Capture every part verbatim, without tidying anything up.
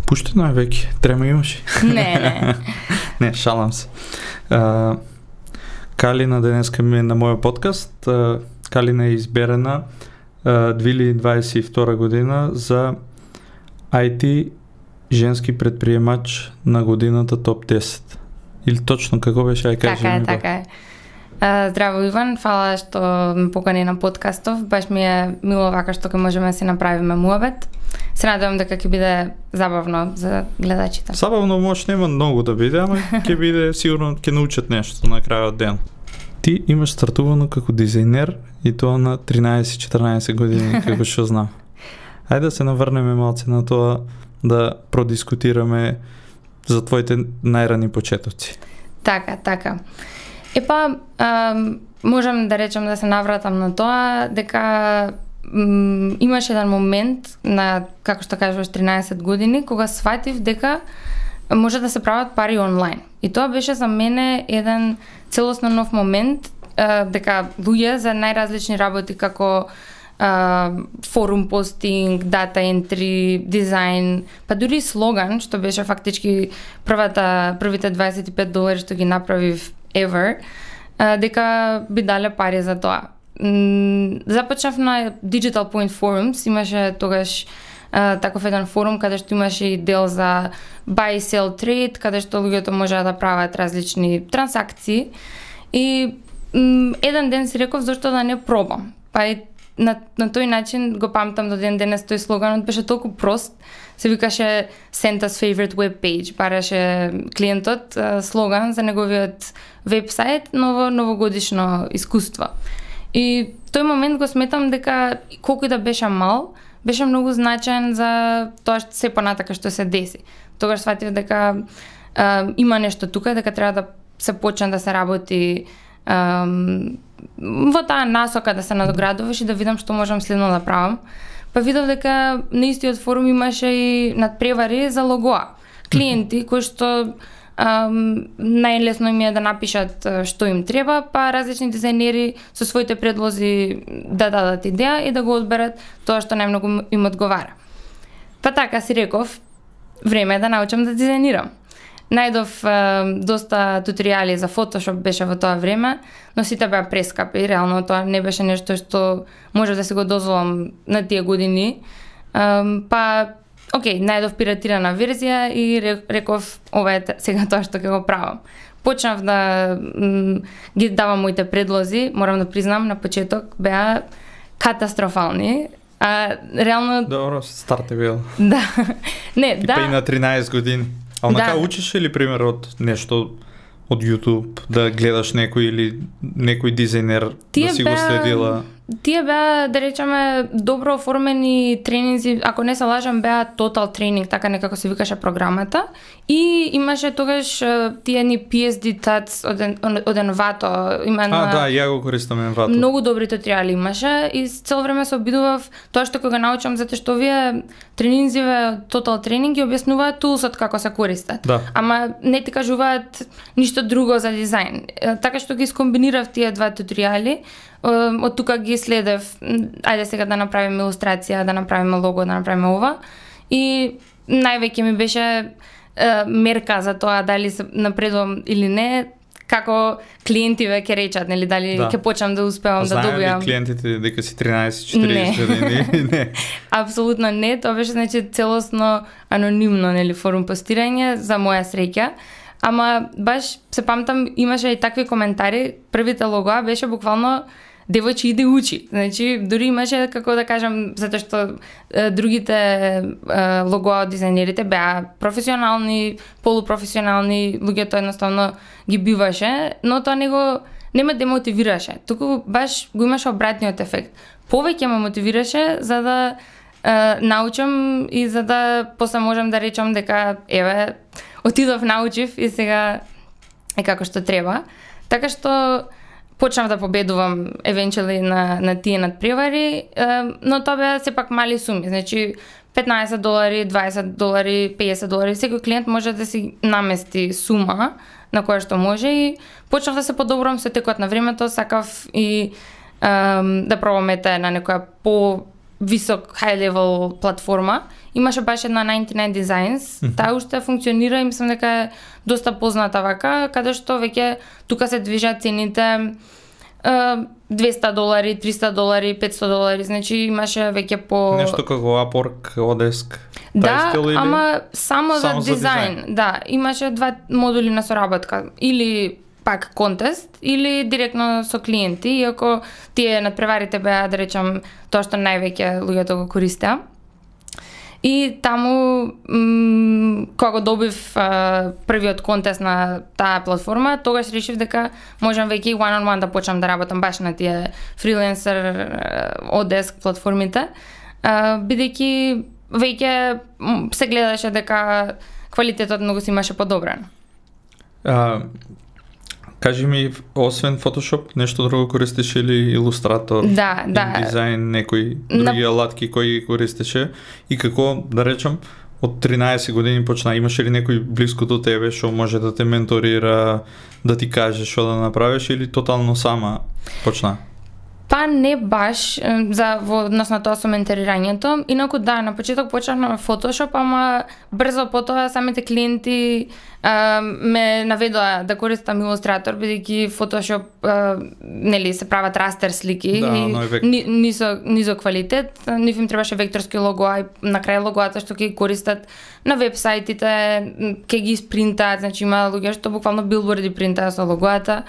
Пуштено е веќе, трема имаш. Не, не. Не, шалам се. А, Калина денеска ми е на мојот подкаст. А, Калина е изберена а, две илјади дваесет и втора година за ай ти женски предприемач на годината топ десет. Или точно како беше, ај кажи Така е, ми така е. Uh, здраво Иван, фала што ме покани на подкастов. Баш ми е мило вака што ќе можеме да си направиме муабет. Се надевам дека ќе биде забавно за гледачите. Забавно може нема многу да биде, ама ќе биде сигурно ќе научат нешто на крајот ден. Ти имаш стартувано како дизајнер и тоа на тринаесет-четиринаесет години, како што знам. Ајде да се наврнеме малце на тоа, да продискутираме за твоите најрани почетоци. Така, така. Епа, ам, можам да речам да се навратам на тоа, дека м, имаш еден момент на, како што кажуваш, тринаесет години, кога сватив дека може да се прават пари онлайн. И тоа беше за мене еден целосно нов момент, а, дека луѓе за најразлични работи како а, форум постинг, дата ентри, дизајн, па дури слоган, што беше фактички првата, првите дваесет и пет долари што ги направив ever, а, дека би дале пари за тоа. М, започнав на Digital Point Forums, имаше тогаш а, таков еден форум каде што имаше и дел за buy, sell, trade, каде што луѓето можеа да прават различни трансакции. И м, еден ден си реков зашто да не пробам. Па и на, на тој начин го памтам до ден денес тој слоганот беше толку прост. Се викаше Santa's favorite web page. Бараше клиентот а, слоган за неговиот вебсайт, ново новогодишно искуство. И тој момент го сметам дека колку и да беше мал, беше многу значаен за тоа што се понатака што се деси. Тогаш сватив дека а, има нешто тука, дека треба да се почне да се работи а, во таа насока, да се надоградуваш и да видам што можам следно да правам. Па видов дека на истиот форум имаше и надпревари за логоа. Клиенти кои што Um, најлесно им е да напишат што им треба, па различни дизајнери со своите предлози да дадат идеја и да го одберат тоа што најмногу им одговара. Па така си реков, време е да научам да дизајнирам. Најдов uh, доста туторијали за Photoshop беше во тоа време, но сите беа прескапи, реално тоа не беше нешто што може да се го дозволам на тие години. Um, па Океј, најдов пиратирана верзија и реков, ова е сега тоа што ќе го правам. Почнав да м, ги давам моите предлози, морам да признам, на почеток беа катастрофални. А реално... Добро, старт е бил. Да. Не, Типа да. и на тринаесет години. А онака Да. учиш ли пример од нешто од YouTube, да гледаш некој или некој дизајнер Тие да си го беа- следила? Тие беа, да речеме, добро оформени тренинзи, ако не се лажам, беа Total Training, така некако се викаше програмата. И имаше тогаш е, тие ни пи ес ди Tats од, ен- од Envato. Има А, на... да, ја го користам Envato. Многу добри туторијали имаше и цело време се обидував тоа што кога научам, затоа што овие тренинзиве Total Training ги објаснуваат тулсот како се користат. Да. Ама не ти кажуваат ништо друго за дизајн. Е, Така што ги скомбинирав тие два туторијали, е, од тука ги следев, м, ајде сега да направиме илустрација, да направиме лого, да направиме ова. И највеќе ми беше е, мерка за тоа дали се напредувам или не, како клиентиве ќе речат, нели, дали Да. ќе почнам да успевам да Знаеме добијам. ли клиентите дека си тринаесет-четириесет години? Не. Апсолутно не, тоа беше значи целосно анонимно, нели, форум постирање за моја среќа. Ама баш се памтам, имаше и такви коментари, првите логоа беше буквално девојче иде учи. Значи, дури имаше, како да кажам, затоа што е, другите е, логоа од дизајнерите беа професионални, полупрофесионални, луѓето едноставно ги биваше, но тоа не го не ме демотивираше. Туку баш го имаше обратниот ефект. Повеќе ме мотивираше за да е, научам и за да после можам да речам дека еве отидов, научив и сега е како што треба. Така што почнав да победувам евенчуали на, на тие надпревари, е, но тоа беа сепак мали суми, значи петнаесет долари, дваесет долари, педесет долари, секој клиент може да си намести сума на која што може и почнав да се подобрувам со текот на времето, сакав и ем, да пробам ете на некоја по висок high level платформа имаше баш една ninety-nine Designs, mm-hmm. таа уште функционира и мислам дека е доста позната вака, каде што веќе тука се движат цените двесте долари, триста долари, петсто долари, значи имаше веќе по... Нешто како Upwork, Odesk, да, стил, или... ама само, само за, дизайн. за дизайн. Да, имаше два модули на соработка. Или пак контест, или директно со клиенти, иако тие надпреварите беа, да речам, тоа што највеќе луѓето го користеа. И таму, м- кога добив а, првиот контест на таа платформа, тогаш решив дека можам веќе и one-on-one да почнам да работам баш на тие фриленсер Odesk платформите, а, бидејќи веќе се гледаше дека квалитетот многу си имаше подобрен. А, кажи ми, освен Photoshop, нешто друго користиш или Illustrator, да, да. дизайн, некои други на... алатки кои користеше и како, да речам, од тринаесет години почна, имаш ли некој близко до тебе што може да те менторира, да ти каже што да направиш или тотално сама почна? Па не баш за во однос на тоа со менторирањето, инаку да, на почеток почнав на Photoshop, ама брзо потоа самите клиенти а, ме наведоа да користам Illustrator, бидејќи Photoshop а, нели се прават растер слики да, и ни, нисо низо квалитет, нив им требаше векторски логоа и на крај логоата што ќе ги користат на вебсајтите, ќе ги испринтаат, значи има луѓе што буквално билборди принтаат со логоата.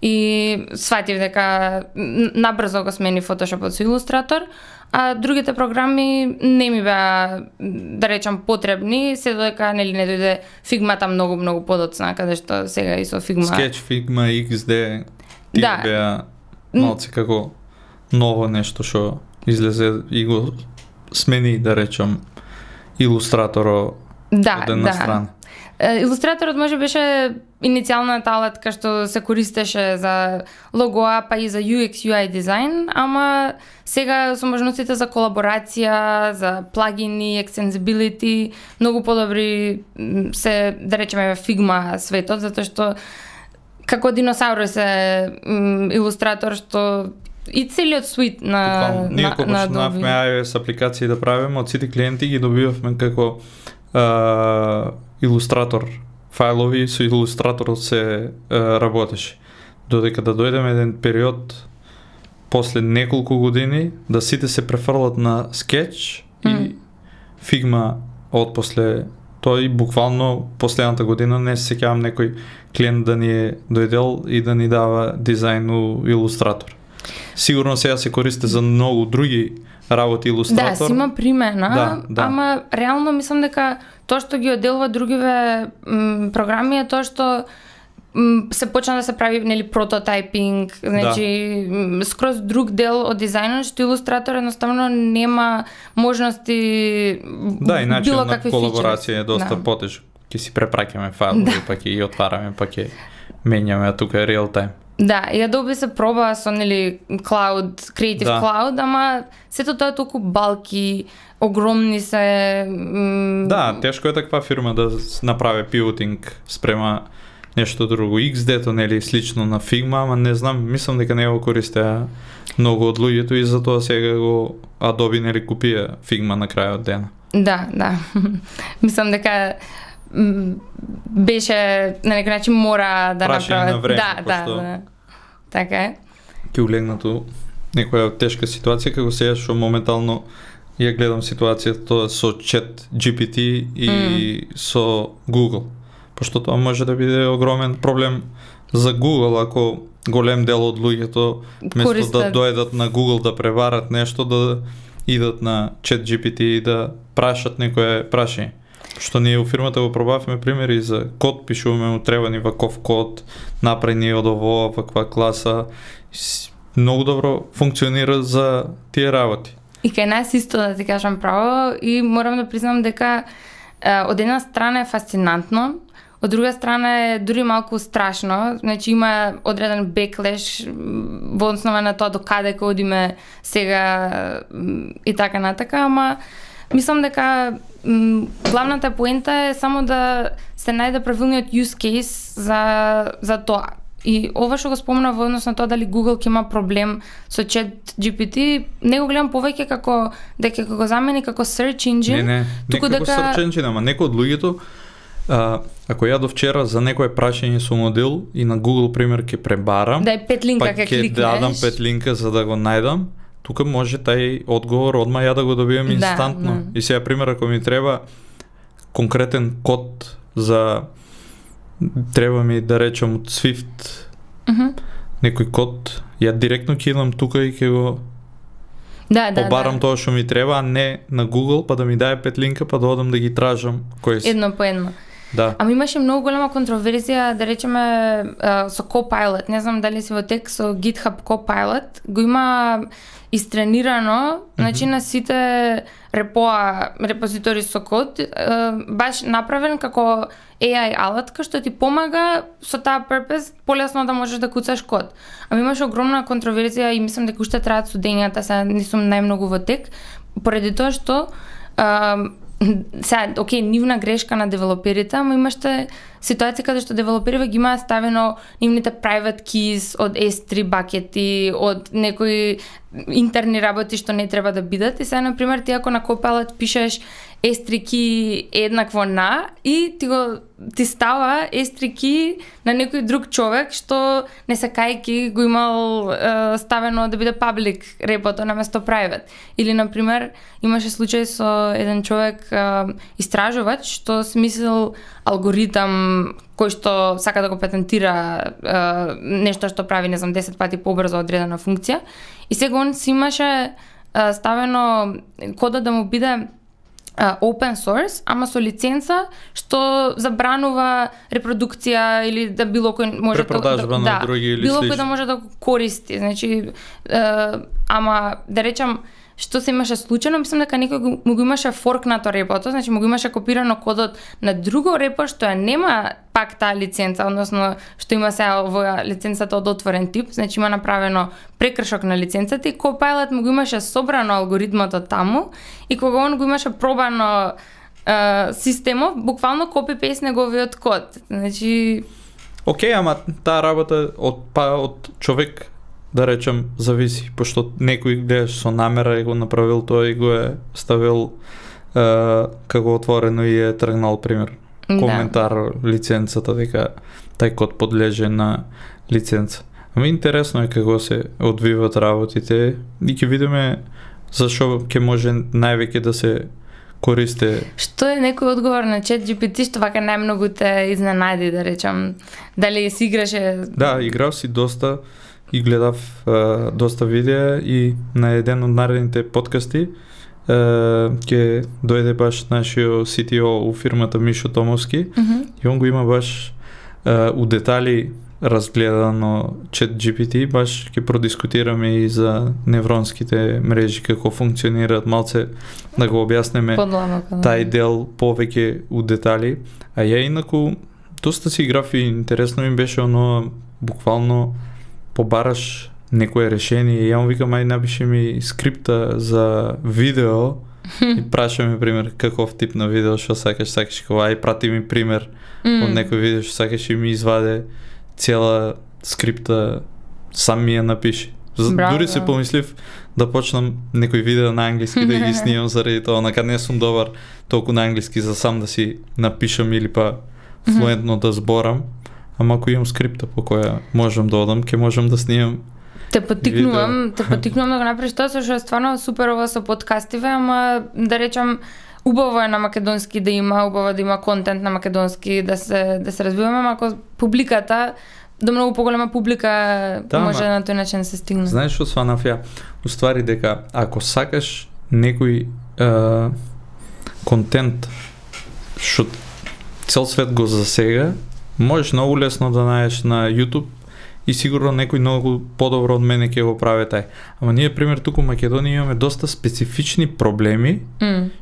И сватив дека набрзо го смени Photoshopот со Illustrator, а другите програми не ми беа, да речам, потребни, се додека нели не дојде Figma-та многу многу подоцна, каде што сега и со Figma. Sketch, Figma, икс ди, тие да. Беа малци како ново нешто што излезе и го смени, да речам, Illustrator да, од една да. страна. Илустраторот може беше иницијалната алатка што се користеше за логоа, па и за ю екс ю ај дизайн, ама сега со можностите за колаборација, за плагини, extensibility, многу подобри се, да речеме, Figma светот, затоа што како диносаурус е Илустратор што и целиот суит на ние на, кога на почнавме iOS апликации да правиме, од сите клиенти ги добивавме како Uh, Илустратор файлови, со Илустраторот се uh, работеше. Додека да дојдеме еден период после неколку години да сите се префрлат на Sketch mm. и Figma од после тој буквално последната година не се сеќавам некој клиент да ни е дојдел и да ни дава дизајн у Илустратор. Сигурно сега се користи за многу други работи Илустратор. Да, си има примена, да, да. Ама реално мислам дека тоа што ги одделува другиве м, програми е тоа што м, се почна да се прави нели прототайпинг, значи да. Скроз друг дел од дизајнот што Илустратор едноставно нема можности да, и начин било на какви колаборација е доста да. потешко. Ќе си препраќаме файлови, да. Па ќе ги отвараме, па ќе менјаме, а тука е реал тајм. Да, и Adobe се проба со нели Cloud, Creative да. Cloud, ама сето тоа е толку балки, огромни се. М... Да, тешко е таква фирма да направи пивотинг спрема нешто друго. икс ди-то нели слично на Figma, ама не знам, мислам дека не го користеа многу од луѓето и затоа сега го Adobe нели купија Figma на крајот дена. Да, да. Мислам дека беше на некој начин мора да направат. На време, да, да, да. Така е. Ке улегнато некоја тешка ситуација како сега што моментално ја гледам ситуацијата тоа со Chat джи пи ти и mm. со Google. Пошто тоа може да биде огромен проблем за Google ако голем дел од луѓето место да дојдат на Google да преварат нешто, да идат на Chat джи пи ти и да прашат некое прашање. Што ние у фирмата го пробавме примери за код, пишуваме му треба ни ваков код, направи ни од ово, ваква класа. Многу добро функционира за тие работи. И кај нас исто, да ти кажам право, и морам да признам дека е, од една страна е фасцинантно, од друга страна е дури малку страшно, значи има одреден беклеш во основа на тоа до каде ке одиме сега и така натака, ама мислам дека м, главната поента е само да се најде правилниот use case за, за тоа. и ова што го спомна во однос на тоа дали Google ќе има проблем со ChatGPT, не го гледам повеќе како дека го замени како search engine. Не, не, не како дека... search engine, ама некој од луѓето, а, ако ја до вчера за некое прашање со модел и на Google пример ќе пребарам, дај пет линка па ќе ќе дадам пет линка за да го најдам, тука може тај одговор одма ја да го добиам инстантно. Да, да. И сега пример ако ми треба конкретен код за треба ми да речам од Swift uh-huh. некој код, ја директно ќе идам тука и ќе го да, да, побарам да. тоа што ми треба, а не на Google, па да ми даде пет линка, па да одам да ги тражам кои се. Едно по едно. Да. Ама имаше многу голема контроверзија, да речеме, uh, со Copilot. Не знам дали си во тек со GitHub Copilot. Го има истренирано, mm-hmm. значи на сите репоа, репозитори со код, uh, баш направен како A I алатка што ти помага со таа purpose полесно да можеш да куцаш код. Ама имаше огромна контроверзија и мислам дека уште траат судењата, сега не сум најмногу во тек, поради тоа што uh, сега, окей, нивна грешка на девелоперите, ама имаше ситуација каде што девелоперите ги имаат ставено нивните private keys од ес три бакети, од некои интерни работи што не треба да бидат. И сега, например, ти ако на Copilot пишеш ес три key еднакво на и ти го ти става ес три key на некој друг човек што не се кајки го имал е, ставено да биде public репото наместо private. Или, например, имаше случај со еден човек е, истражувач што смислил алгоритам кој што сака да го патентира е, нешто што прави, не знам, десет пати побрзо одредена функција. И сега он си имаше е, ставено кодот да му биде Uh, open source, ама со лиценца што забранува репродукција или да било кој може препродажба да, на да, други или било слично. кој да може да го користи. Значи, uh, ама да речам што се имаше случајно, мислам дека некој го, му го имаше форкнато репото, значи му го имаше копирано кодот на друго репо што ја нема пак таа лиценца, односно што има сега овоја лиценцата од отворен тип, значи има направено прекршок на лиценцата и Copilot му го имаше собрано алгоритмото таму и кога он го имаше пробано е, системов, буквално копи-пейст неговиот код. Значи Океј, ама таа работа од па од човек да речем зависи, пошто некој гледаш со намера и го направил тоа и го е ставил е, како отворено и е тргнал пример. Коментар да. Лиценцата дека тај код подлежи на лиценца. Ами интересно е како се одвиваат работите и ќе видиме зашо ќе може највеќе да се користе. Што е некој одговор на ChatGPT што вака најмногу те изненади, да речам? Дали си играше? Да, играв си доста и гледав uh, доста видеа и на еден од наредните подкасти uh, ќе дојде баш нашиот Си Ти О у фирмата Мишо Томовски Mm-hmm. и он го има баш uh, у детали разгледано ChatGPT, баш ќе продискутираме и за невронските мрежи како функционираат, малце да го објаснеме тај дел повеќе у детали. А ја инаку доста си играв и интересно ми беше оно буквално побараш некое решение и ја му викам ај напиши ми скрипта за видео и прашаме пример каков тип на видео што сакаш, сакаш кога ај прати ми пример mm. од некој видео што сакаш и ми изваде цела скрипта, сам ми ја напиши. Браво, Дури се помислив да почнам некој видео на англиски да ги снимам заради тоа, накад не сум добар толку на англиски за сам да си напишам или па флуентно да зборам. Ама ако имам скрипта по која можам да одам, ќе можам да снимам. Те потикнувам, видео. те потикнувам да го направиш тоа, што е стварно супер ова со подкастиве, ама да речам убаво е на македонски да има, убаво да има контент на македонски, да се да се развиваме, ама ако публиката до многу поголема публика да, може на тој начин да се стигне. Знаеш што сванав ја? Уствари дека ако сакаш некој е, контент што цел свет го засега, можеш многу лесно да најдеш на YouTube и сигурно некој многу подобро од мене ќе го прави тај. Ама ние, пример, туку во Македонија имаме доста специфични проблеми,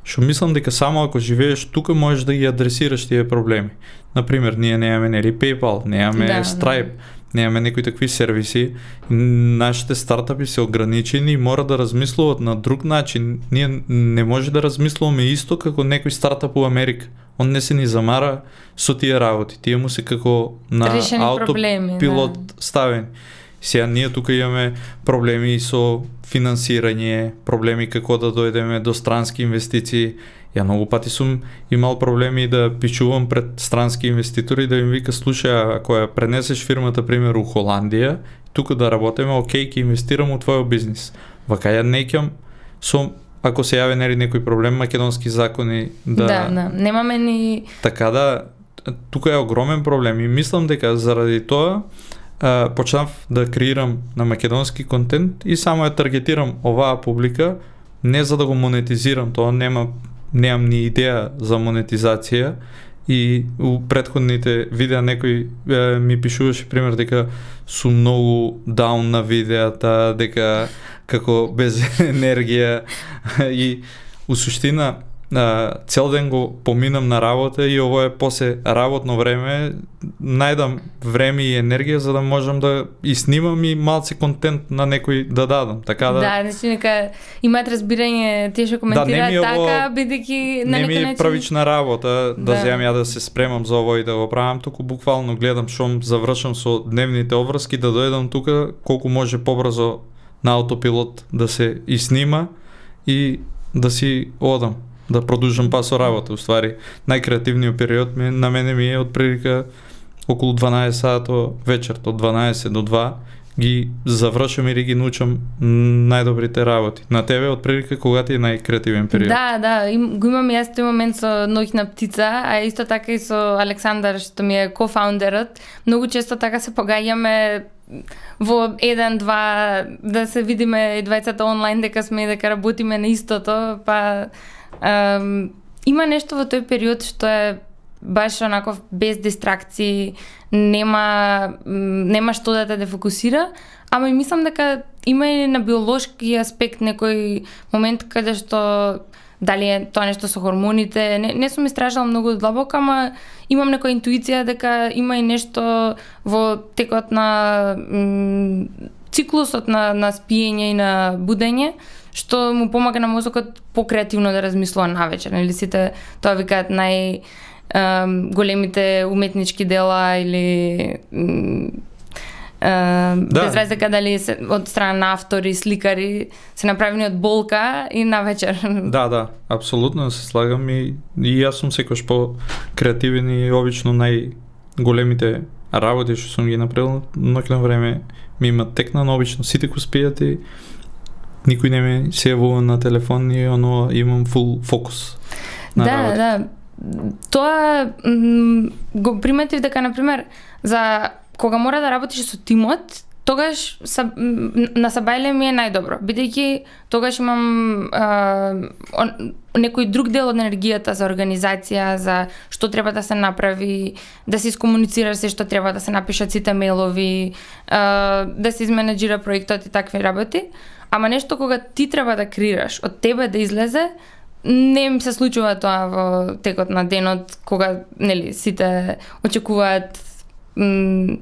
што mm. мислам дека само ако живееш тука можеш да ги адресираш тие проблеми. Например, ние немаме нели PayPal, немаме да, Stripe, немаме некои такви сервиси, нашите стартапи се ограничени и мора да размислуват на друг начин. Ние не може да размислуваме исто како некој стартап у Америка. Он не се ни замара со тие работи. Тие му се како на аутопилот да. ставени. Сега ние тука имаме проблеми со финансирање, проблеми како да дојдеме до странски инвестиции. Ја многу пати сум имал проблеми да пичувам пред странски инвеститори да им вика, слушај, ако ја пренесеш фирмата, пример, у Холандија, тука да работиме, окей, ќе инвестирам у твојот бизнис. Вака ја неќам со, ако се јави нели некој проблем, македонски закони да... Да, да, немаме ни... Така да, тука е огромен проблем и мислам дека заради тоа а, почнав да креирам на македонски контент и само ја таргетирам оваа публика, не за да го монетизирам, тоа нема немам ни идеја за монетизација и у претходните видеа некој е, ми пишуваше пример дека сум многу даун на видеата, дека како без енергија и у суштина цел ден го поминам на работа и ово е после работно време, најдам време и енергија за да можам да и снимам и малце контент на некој да дадам. Така да. Да, значи нека имаат разбирање, тие што коментираат да, така, бидејќи на некој начин. Не ми е правична работа да, да земам ја да се спремам за ово и да го правам, туку буквално гледам шом завршам со дневните обврски да дојдам тука колку може побрзо на аутопилот да се и снима и да си одам. Да продолжам па со работа, уствари. Најкреативниот период ми, на мене ми е од прилика околу дванаесет сато вечерот, од дванаесет до два, ги завршам или ги научам најдобрите работи. На тебе од прилика кога ти е најкреативен период? Да, да, им, го имам јас тој момент со Ноќна птица, а исто така и со Александар, што ми е кофаундерот. Многу често така се погаѓаме во еден, два, да се видиме и двајцата онлайн, дека сме и дека работиме на истото, па Um, има нешто во тој период што е баш онако без дистракции, нема нема што да те дефокусира, ама и мислам дека има и на биолошки аспект некој момент каде што дали е тоа нешто со хормоните, не, не сум истражала многу длабоко, ама имам некоја интуиција дека има и нешто во текот на м, циклусот на, на спиење и на будење, што му помага на мозокот покреативно да размислува навечер. Или сите тоа викаат нај ем, големите уметнички дела или ем, да. без разлика дали се, од страна на автори, сликари се направени од болка и навечер. Да, да, апсолутно се слагам и, и јас сум секојаш по креативен и обично најголемите работи што сум ги направил ноќно време ми има текна, но обично сите ко спијат и никој не ме се јавува на телефон и оно имам фул фокус на да, работа. Да, тоа м, го приметив дека, например, за кога мора да работиш со тимот, тогаш са, на Сабајле ми е најдобро, бидејќи тогаш имам а, он, некој друг дел од енергијата за организација, за што треба да се направи, да се искомуницира се што треба да се напишат сите мејлови, а, да се изменеджира проектот и такви работи. Ама нешто кога ти треба да креираш, од тебе да излезе, не ми се случува тоа во текот на денот, кога нели сите очекуваат м,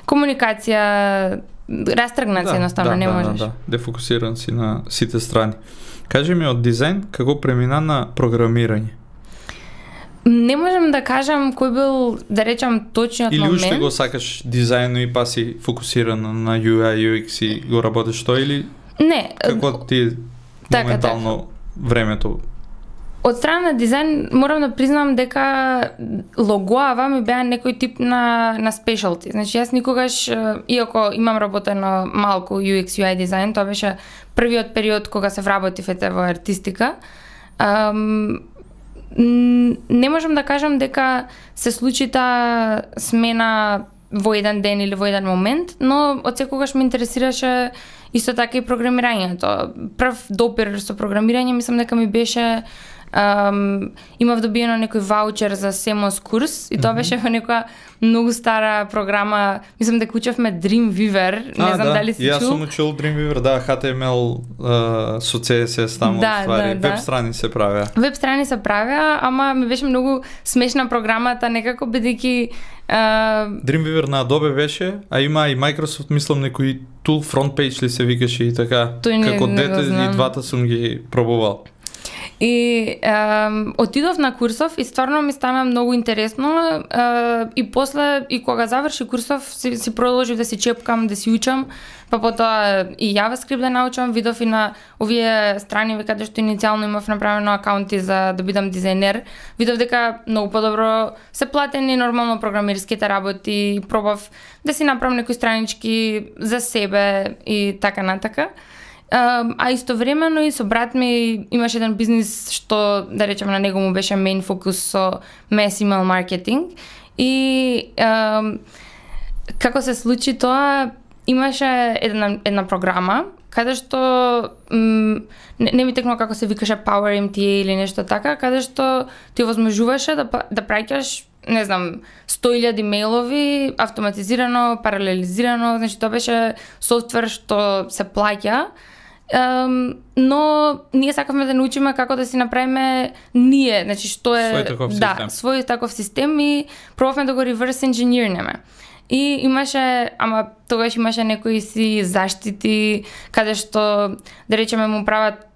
комуникација, растргнат се, да, едноставно да, не да, можеш. Да, да, дефокусиран си на сите страни. Кажи ми од дизајн како премина на програмирање? Не можам да кажам кој бил, да речам, точниот или момент. Или уште го сакаш дизајно и па си фокусирана на ю ај ю екс и го работиш тоа или не, како ти така, моментално така. времето? Од страна на дизајн морам да признам дека логоава ми беа некој тип на на спешалти. Значи јас никогаш, иако имам работено малку ю екс ю ај дизајн, тоа беше првиот период кога се вработив ете во артистика. Ам, не можам да кажам дека се случи таа смена во еден ден или во еден момент, но од секогаш ме интересираше исто така и програмирањето. Прв допир со програмирање мислам дека ми беше Um, имав добиено некој ваучер за Семос курс и тоа беше во некоја многу стара програма, мислам дека учевме Dreamweaver, не а, знам да. дали си чул. Јас сум учил Dreamweaver, да, H T M L uh, со C S S таму да, ствари, да, веб да. страни се правеа. Веб страни се правеа, ама ми беше многу смешна програмата, некако бидејќи uh... Dreamweaver на Adobe беше, а има и Microsoft, мислам, некој tool FrontPage ли се викаше и така. Тој не, Како не дете и двата сум ги пробувал. И um, отидов на курсов и стварно ми стана многу интересно uh, и после, и кога заврши курсов, си, си продолжив да си чепкам, да си учам, па потоа и JavaScript да научам, видов и на овие страни каде што иницијално имав направено акаунти за да бидам дизајнер, видов дека многу подобро се платени нормално програмирските работи, пробав да си направам некои странички за себе и така натака. Uh, а истовремено и со брат ми имаше еден бизнис што, да речеме, на него му беше main фокус со mass email marketing и uh, како се случи тоа, имаше една, една програма каде што м, не, не ми текнува како се викаше Power M T A или нешто така, каде што ти овозможуваше да, да праќаш, не знам, сто илјади мејлови автоматизирано, паралелизирано, значи тоа беше софтвер што се плаќа. Um, но ние сакавме да научиме како да си направиме ние, значи што е свој таков да, систем. свој таков систем и пробавме да го reverse engineerнеме. И имаше, ама тогаш имаше некои си заштити каде што, да речеме, му прават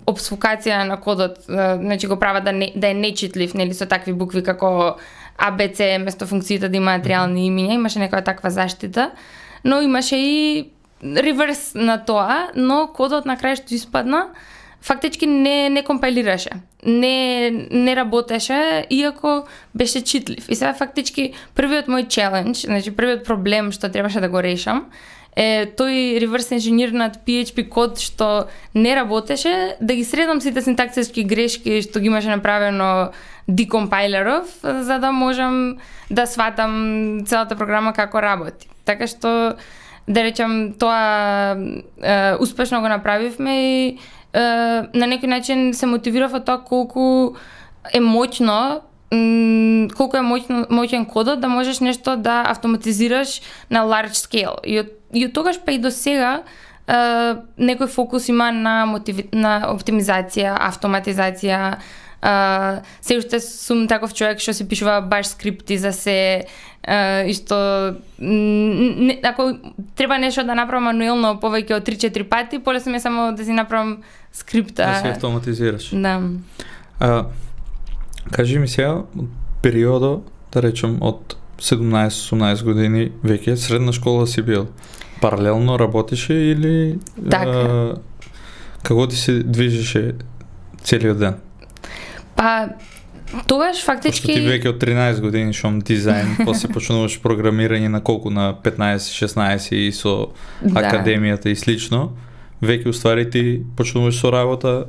обсфукација на кодот, значи го прават да не, да е нечитлив, нели, со такви букви како А Б Ц место функциите да имаат реални имиња, имаше некоја таква заштита, но имаше и реверс на тоа, но кодот на крај што испадна фактички не не компилираше. Не не работеше иако беше читлив. И сега фактички првиот мој челендж, значи првиот проблем што требаше да го решам е тој реверс енжинирнат P H P код што не работеше, да ги средам сите синтаксички грешки што ги имаше направено декомпайлеров, за да можам да сватам целата програма како работи. Така што, да речам, тоа е, успешно го направивме и е, на некој начин се мотивирав од тоа колку е моќно, м, колку е моќно, моќен кодот да можеш нешто да автоматизираш на large scale. И од, и од тогаш па и до сега е, некој фокус има на, мотиви, на оптимизација, автоматизација. Uh, се уште сум таков човек што си пишува баш скрипти за се uh, и што не, ако треба нешто да направам мануелно повеќе од три-четири пати, полесно ми е само да си направам скрипта. Да се автоматизираш. Да. А, кажи ми сега, периодо, да речем, од седумнаесет-осумнаесет години веќе средна школа си бил. Паралелно работеше или Така. а, како ти се движеше целиот ден? Па, тогаш фактички... Пошто ти веќе од тринаесет години шом дизајн, после почнуваш програмирање на колку, на петнаесет-шеснаесет и со Да. академијата и слично, веќе уствари ти почнуваш со работа,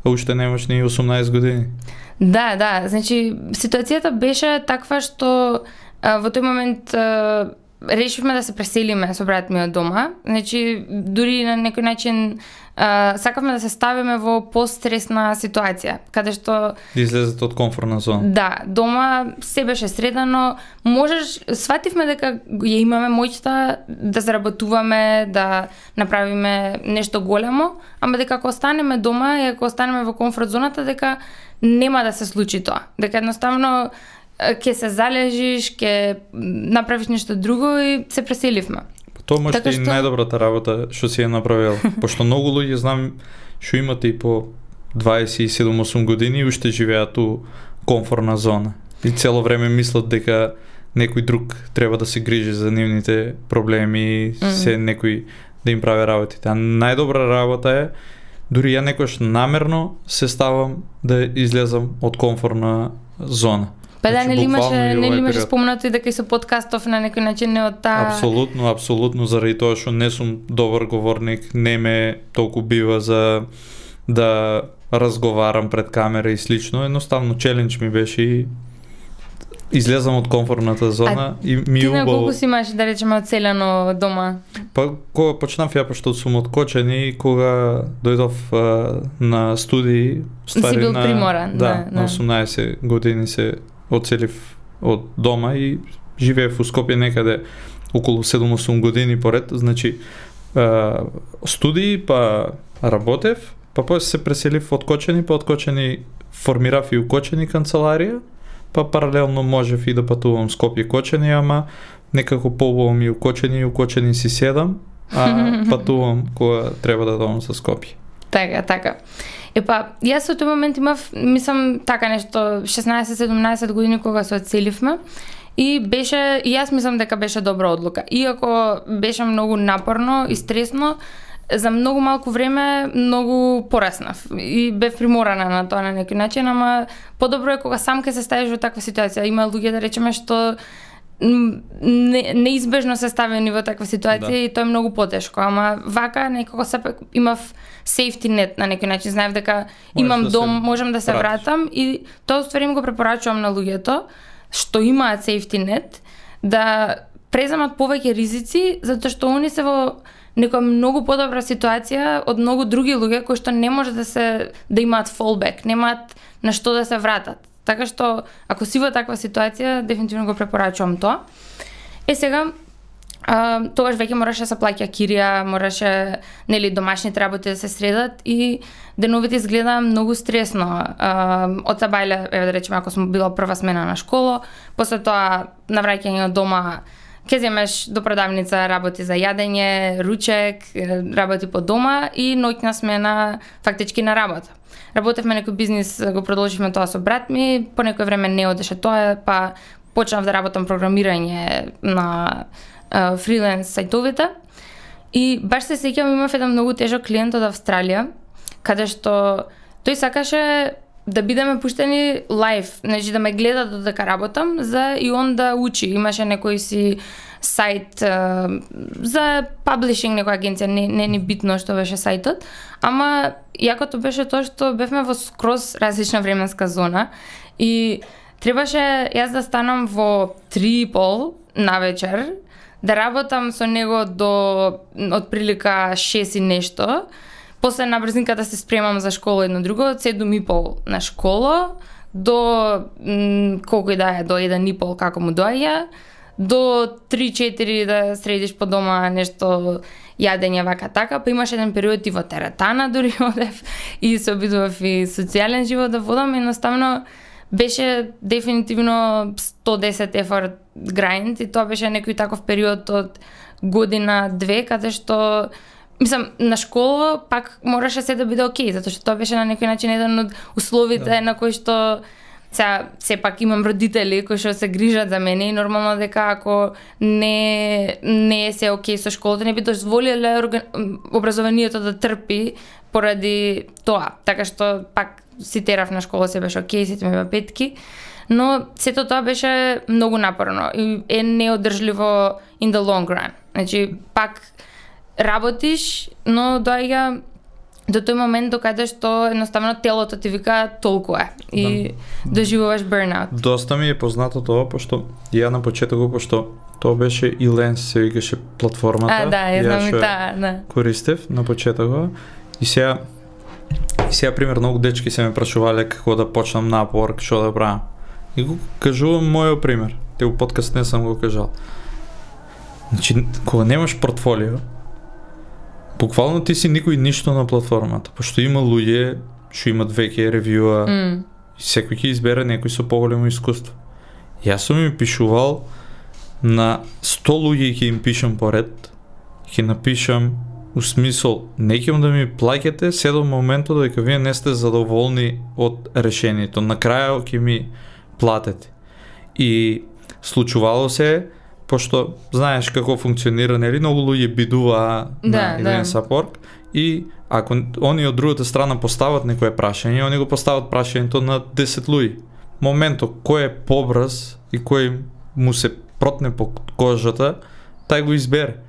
а уште немаш ни осумнаесет години. Да, да, значи ситуацијата беше таква што а, во тој момент а, решивме да се преселиме со брат ми од дома. Значи дури на некој начин а, сакавме да се ставиме во постресна ситуација, каде што Да излезете од комфортна зона. да, дома се беше средано, можеш, свативме дека ја имаме моќта да заработуваме, да направиме нешто големо, ама дека ако останеме дома и ако останеме во комфорт зоната, дека нема да се случи тоа. Дека едноставно ќе се залежиш, ќе направиш нешто друго и се преселивме. Тоа може Така и што- најдобрата работа што си ја направил. Пошто многу луѓе знам што имат и по дваесет и седум-осум години и уште живеат у комфортна зона. И цело време мислат дека некој друг треба да се грижи за нивните проблеми, Мгм. се некој да им прави работите. А најдобра работа е, дури ја некојаш намерно се ставам да излезам од комфортна зона. Па да, Значи, нели имаше, буквално и нели овај имаше период. спомнато и дека и со подкастов на некој начин не од таа... Апсолутно, апсолутно, заради тоа што не сум добар говорник, не ме толку бива за да разговарам пред камера и слично, едноставно челендж ми беше и излезам од комфортната зона а, и ми ти убаво. на колку си имаш, да речеме, оцелено дома? Па кога почнав ја, пошто сум од Кочани, кога дојдов а, на студии, ствари, си бил на, приморан, да, да, на да. осумнаесет години се оцелив од дома и живеев у Скопје некаде околу седум-осум години поред, значи а, студии, па работев, па после се преселив од Кочани, па од Кочани формирав и у Кочани канцеларија, па паралелно можев и да патувам Скопје Кочани, ама некако поубаво ми у Кочани и у Кочани си седам, а патувам кога треба да дојдам со Скопје. Така, така. Епа, јас во тој момент имав, мислам, така нешто шеснаесет-седумнаесет години кога се одселивме и беше, и јас мислам дека беше добра одлука. Иако беше многу напорно и стресно, за многу малку време многу пораснав и бев приморана на тоа на некој начин, ама подобро е кога сам ке се ставиш во таква ситуација. Има луѓе, да речеме, што не, неизбежно се ставени во таква ситуација, да. И тоа е многу потешко, ама вака некако сепак имав safety net на некој начин, знаев дека можеш имам да дом, можам да се вратиш. Вратам и тоа уствари им го препорачувам на луѓето што имаат safety net да преземат повеќе ризици, затоа што они се во некоја многу подобра ситуација од многу други луѓе кои што не може да се да имаат fallback, немаат на што да се вратат. Така што ако си во таква ситуација, дефинитивно го препорачувам тоа. Е сега а, тогаш веќе мораше да се плаќа кирија, мораше, нели, домашните работи да се средат и деновите изгледа многу стресно. А, од сабајле, еве да речеме, ако сум била прва смена на школа, после тоа на враќање од дома ке земеш до продавница работи за јадење, ручек, работи по дома и ноќна смена фактички на работа. Работевме некој бизнис, го продолживме тоа со брат ми, по некој време не одеше тоа, па почнав да работам програмирање на uh, фриленс сајтовите. И баш се сеќавам, имав еден многу тежок клиент од Австралија, каде што тој сакаше да бидеме пуштени лайв, значи да ме гледа додека работам, за и он да учи. Имаше некој си сајт uh, за паблишинг, некоја агенција, не, не ни битно што беше сајтот, ама јакото беше тоа што бевме во скроз различна временска зона и требаше јас да станам во три и пол на вечер, да работам со него до отприлика шест и нешто, после на брзинката се спремам за школа едно друго, од седум и пол на школа, до м, колку и да е, до еден и пол како му доаѓа, до три-четири да средиш по дома нешто јадење вака така, па имаше еден период и во теретана дури одев и се обидував и социјален живот да водам, едноставно беше дефинитивно сто десет ефорт grind и тоа беше некој таков период од година-две, каде што мислам, на школа пак мораше се да биде окей, затоа што тоа беше на некој начин еден од условите да. На кои што сега сепак имам родители кои што се грижат за мене и нормално дека ако не не е се окей со школата, не би дозволиле образованието да трпи поради тоа. Така што пак си терав на школа, се беше окей, сите ми беа петки, но сето тоа беше многу напорно и е неодржливо in the long run. Значи пак работиш, но доаѓа до тој момент до каде што едноставно телото ти вика толку е и да. Доживуваш burnout. Доста ми е познато тоа, пошто ја на почетокот, пошто тоа беше и Ленс, се викаше платформата. А, да, ја знам и таа, да. Користев на почетокот и сега и сега пример многу дечки се ме прашувале како да почнам на Upwork, што да правам. И го кажувам мојот пример. Те во подкаст не сам го кажал. Значи, кога немаш портфолио, буквално ти си никој ништо на платформата, пошто има луѓе што имат веќе ревјуа mm. и секој ќе избере некој со поголемо искуство. Јас сум им пишувал на сто луѓе ќе им пишам поред, ќе напишам у смисол, не ќе да ми плаќате се до моментот дека вие не сте задоволни од решението. На крајот ќе ми платете. И случувало се, пошто знаеш како функционира, нели, многу луѓе бидува да, на да. еден сапорт и ако они од другата страна постават некое прашање, они го постават прашањето на десет луѓе. Моментот кој е побрз и кој му се протне по кожата, тај го избере.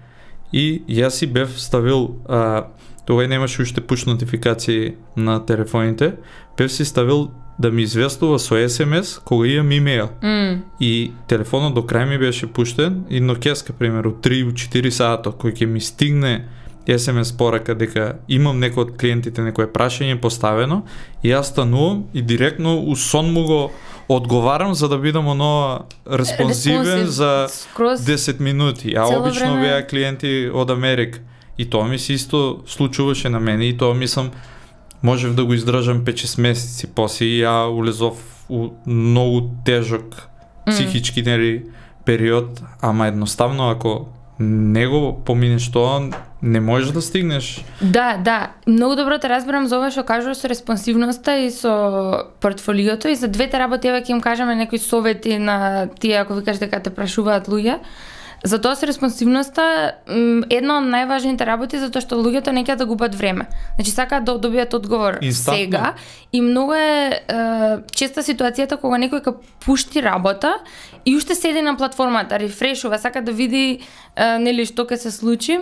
И јас си бев ставил, а, тогаш немаше уште push нотификации на телефоните, бев си ставил да ми известува со ес ем ес кога имам имейл. Mm. И телефонот до крај ми беше пуштен и нокеска, примеру, три-четири сата, кој ќе ми стигне ес ем ес порака дека имам некој од клиентите некое прашање поставено и јас станувам и директно у сон му го одговарам за да бидам оно респонсивен Респонсив, за скроз десет минути, а цело обично време. беа клиенти од Америка. И тоа ми се исто случуваше на мене и тоа мислам можев да го издржам пет-шест месеци, после ја улезов у многу тежок психички нели период, ама едноставно ако не го поминеш тоа, не можеш да стигнеш. Да, да, многу добро те разбирам за ова што кажуваш со респонсивноста и со портфолиото и за двете работи еве ќе им кажеме некои совети на тие ако викаш дека те прашуваат луѓе. За тоа со респонсивноста една од најважните работи затоа што луѓето не ќе да губат време. Значи сакаат да добијат одговор Инстантно. сега и многу е, е честа ситуацијата кога некој ќе пушти работа и уште седи на платформата, рефрешува, сака да види е, нели што ќе се случи.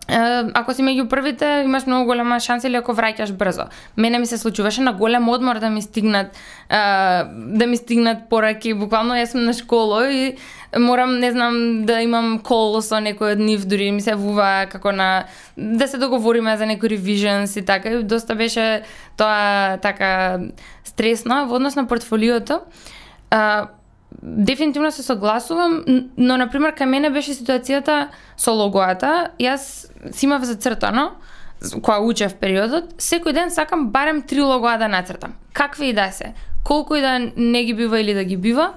Uh, ако си меѓу првите, имаш многу голема шанса или ако враќаш брзо. Мене ми се случуваше на голем одмор да ми стигнат uh, да ми стигнат пораки, буквално јас сум на школа и морам, не знам, да имам кол со некој од нив, дури ми се вува како на да се договориме за некој ревиженс и така, и доста беше тоа така стресно во однос на портфолиото. Uh, Дефинитивно се согласувам, но на пример кај мене беше ситуацијата со логоата. Јас си имав зацртано кога учев периодот, секој ден сакам барем три логоа да нацртам. Какви и да се, колку и да не ги бива или да ги бива,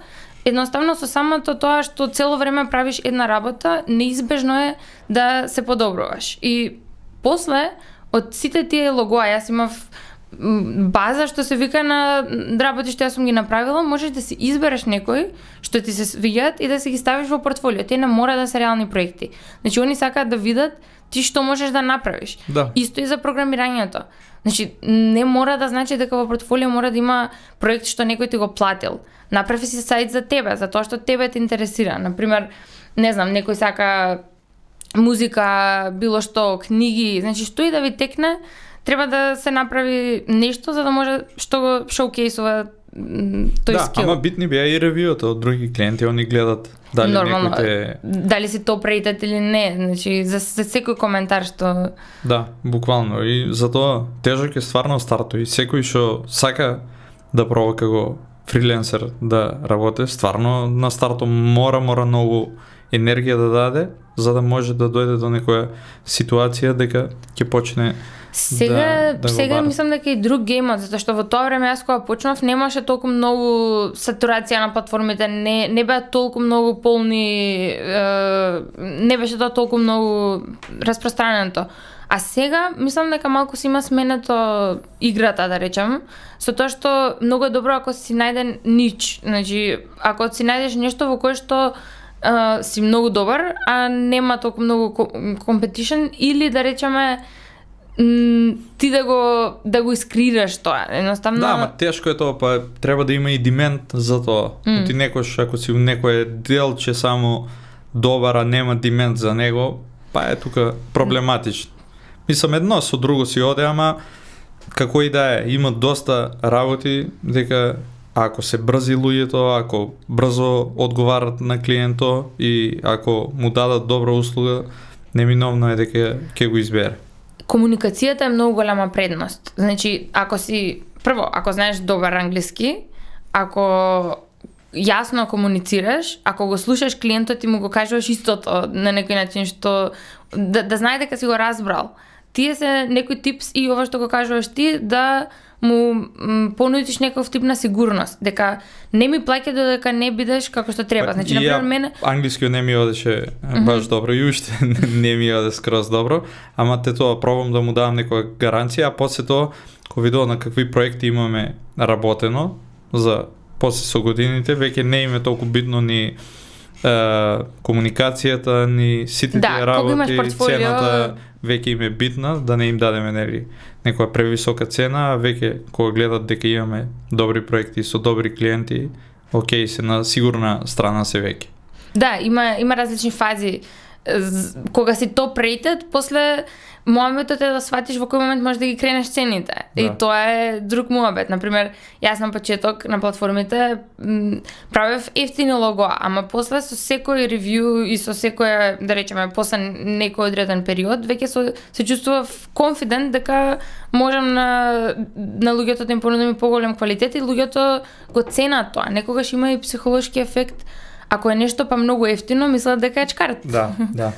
едноставно со самото тоа што цело време правиш една работа, неизбежно е да се подобруваш. И после од сите тие логоа, јас имав база што се вика на работи што јас сум ги направила, можеш да си избереш некој што ти се свиѓаат и да си ги ставиш во портфолио. Те не мора да се реални проекти. Значи они сакаат да видат ти што можеш да направиш. Да. Исто и за програмирањето. Значи не мора да значи дека во портфолио мора да има проект што некој ти го платил. Направи си сајт за тебе, за тоа што тебе те интересира. Например, не знам, некој сака музика, било што, книги, значи што и да ви текне, треба да се направи нешто за да може што го шоукейсува тој да, скил. ама битни беа и ревјуата од други клиенти, они гледат дали Нормално, некој те... дали си топ рейтед или не, значи за, за секој коментар што... Да, буквално, и затоа тежок е стварно старто и секој што сака да проба како фриленсер да работи, стварно на старто мора, мора многу енергија да даде, за да може да дојде до некоја ситуација дека ќе почне Сега, да, да сега мислам дека и друг геймот, затоа што во тоа време јас кога почнав немаше толку многу сатурација на платформите, не не беа толку многу полни, е, не беше тоа толку многу распространето. А сега мислам дека малку си има сменето играта, да речем, со тоа што многу е добро ако си најде нич, значи ако си најдеш нешто во кое што е, си многу добар, а нема толку многу компетишн или да речеме ти да го да го искрираш тоа, едноставно. Да, ама тешко е тоа, па треба да има и dimент за тоа. Mm. Ти некош ако си у некое делче само добар, а нема dimент за него, па е тука проблематично. Мислам едно со друго си оде, ама како и да е, има доста работи дека ако се брзи луѓето, ако брзо одговарат на клиентот и ако му дадат добра услуга, неминовно е дека ќе го избере. Комуникацијата е многу голема предност. Значи, ако си прво, ако знаеш добар англиски, ако јасно комуницираш, ако го слушаш клиентот и му го кажуваш истото на некој начин што да, да знае дека си го разбрал. Тие се некој типс и ова што го кажуваш ти да му понудиш некој тип на сигурност, дека не ми плаќа додека не бидеш како што треба. Значи, на пример, мене англискиот не ми одеше баш mm-hmm. добро и уште не ми оде скроз добро, ама те тоа пробам да му давам некоја гаранција, а после тоа кога видов на какви проекти имаме работено за после со годините, веќе не им е толку битно ни е, комуникацијата, ни сите да, тие работи, портфолио... цената веќе им е битна, да не им дадеме нели некоја превисока цена, а веќе кога гледат дека имаме добри проекти со добри клиенти, окей, се на сигурна страна се веќе. Да, има има различни фази кога си топ рейтед, после моментот е да сватиш во кој момент можеш да ги кренеш цените. Да. И тоа е друг муабет. Например, јас на почеток на платформите м, правев ефтини лого, ама после со секој ревју и со секој, да речеме, после некој одреден период, веќе се, се чувствував конфидент дека можам на, на луѓето да им понудам и поголем квалитет и луѓето го ценат тоа. Некогаш има и психолошки ефект. Ако е нешто па многу ефтино, мислат дека е чкарт. Да, да.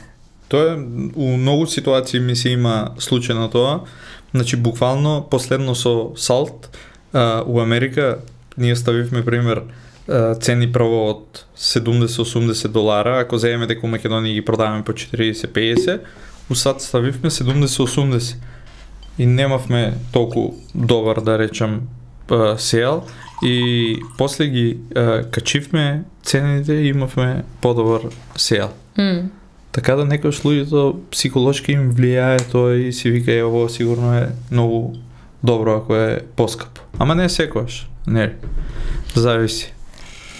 Тоа е, у многу ситуации ми се има случај на тоа. Значи, буквално, последно со Salt, а, у Америка, ние ставивме, пример, а, цени прво од седумдесет до осумдесет долара, ако заеме дека у Македонија ги продаваме по четиридесет до педесет, у САД ставивме седумдесет до осумдесет. И немавме толку добар, да речам, сел, и после ги а, качивме цените и имавме подобар сел. Mm. Така да некојаш луѓето психолошки им влијае тоа и си вика е ово сигурно е многу добро ако е поскапо. Ама не секогаш, не. Зависи.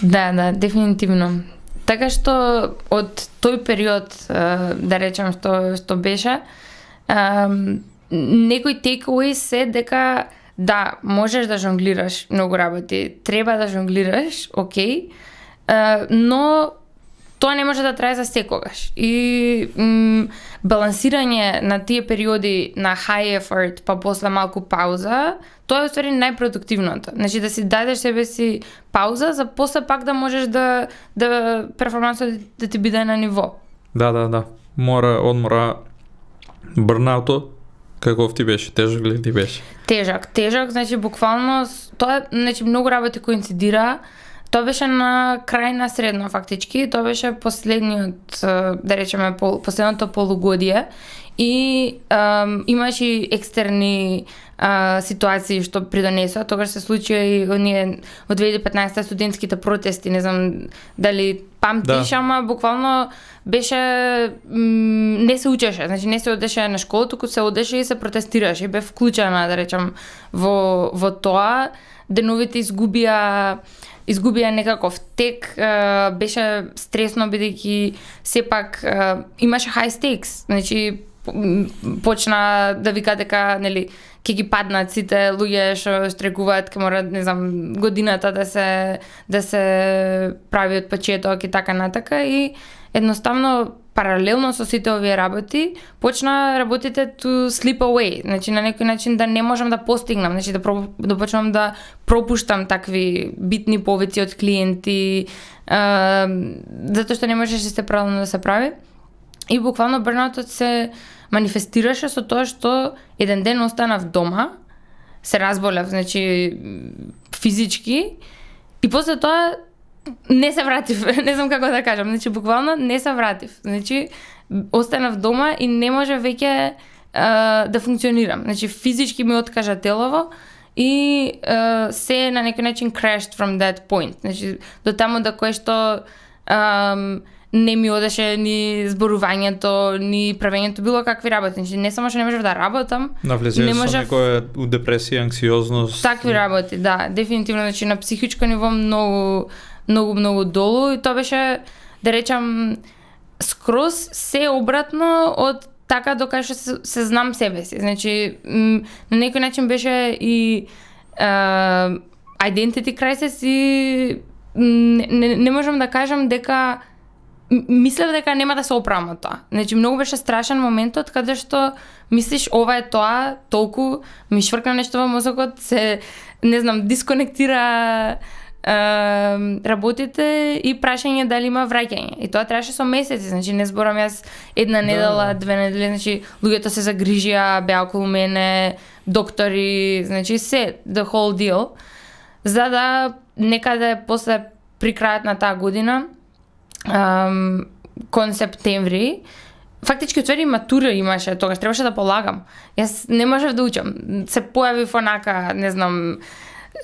Да, да, дефинитивно. Така што од тој период, да речем што што беше, некој takeaway се дека да, можеш да жонглираш многу работи, треба да жонглираш, окей, но тоа не може да трае за секогаш. И м, балансирање на тие периоди на high effort, па после малку пауза, тоа е уствари најпродуктивното. Значи да си дадеш себе си пауза за после пак да можеш да да перформансот да ти биде на ниво. Да, да, да. Мора одмора. Бърнауто каков ти беше? Тежок ли ти беше? Тежак, тежак, значи буквално тоа, значи многу работи коинцидира. Тоа беше на крај на средно фактички, тоа беше последниот, да речеме, пол, последното полугодие и ем, имаше и екстерни а, ситуации што придонесоа. Тогаш се случија и оние од две илјади и петнаесетта студентските протести, не знам дали памтиш, да. Ама буквално беше м, не се учеше, значи не се одеше на школа, туку се одеше и се протестираше, бе вклучена, да речам, во во тоа. Деновите изгубија изгубија некаков тек, а, беше стресно бидејќи сепак а, имаше high stakes, значи почна да вика дека нели ќе ги паднат сите луѓе што штрекуваат, ќе мора, не знам, годината да се да се прави од почеток и така натака, и едноставно паралелно со сите овие работи почна работите to slip away, значи на некој начин да не можам да постигнам, значи да, про, да почнам да пропуштам такви битни повици од клиенти, а, затоа што не можеше се правилно да се прави. И буквално бърнаутот се манифестираше со тоа што еден ден останав дома, се разболев, значи физички, и после тоа не се вратив, не знам како да кажам, значи буквално не се вратив. Значи останав дома и не може веќе а, да функционирам. Значи физички ми откажа телово и а, се на некој начин crashed from that point. Значи до таму да кое што а, не ми одеше ни зборувањето, ни правењето, било какви работи. Значи не само што не можев да работам, навлезеш со некоја у депресија, анксиозност. Такви работи, да, дефинитивно, значи на психичко ниво многу многу многу долу, и тоа беше, да речам, скроз се обратно од така до кај што се, се знам себе си. Значи м, на некој начин беше и uh, identity crisis и не, не, не можам да кажам дека мислев дека нема да се оправам од тоа. Значи многу беше страшен моментот каде што мислиш ова е тоа, толку ми швркна нешто во мозокот, се не знам, дисконектира Uh, работите и прашање дали има враќање. И тоа траше со месеци, значи не зборам јас една недела, две недели, значи луѓето се загрижија, беа околу мене, доктори, значи се, the whole deal. За да некаде после при крајот на таа година, um, кон септември, фактички отвери матура имаше, тогаш требаше да полагам. Јас не можев да учам. Се појавив онака, не знам,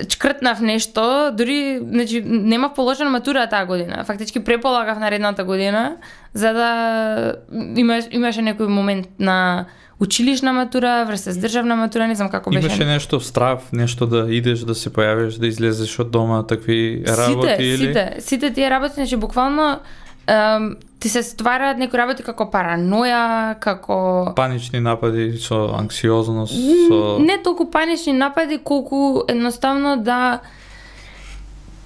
чкртнав нешто, дури, значи, немав положена матура таа година. Фактички преполагав наредната година, за да имаш, имаше некој момент на училишна матура, врз државна матура, не знам како беше. Имаше нешто страв, нешто да идеш, да се појавиш, да излезеш од дома, такви работи сите, или? Сите, сите тие работи, значи буквално um, ти се ствараат некои работи како параноја, како панични напади со анксиозност, со не толку панични напади, колку едноставно да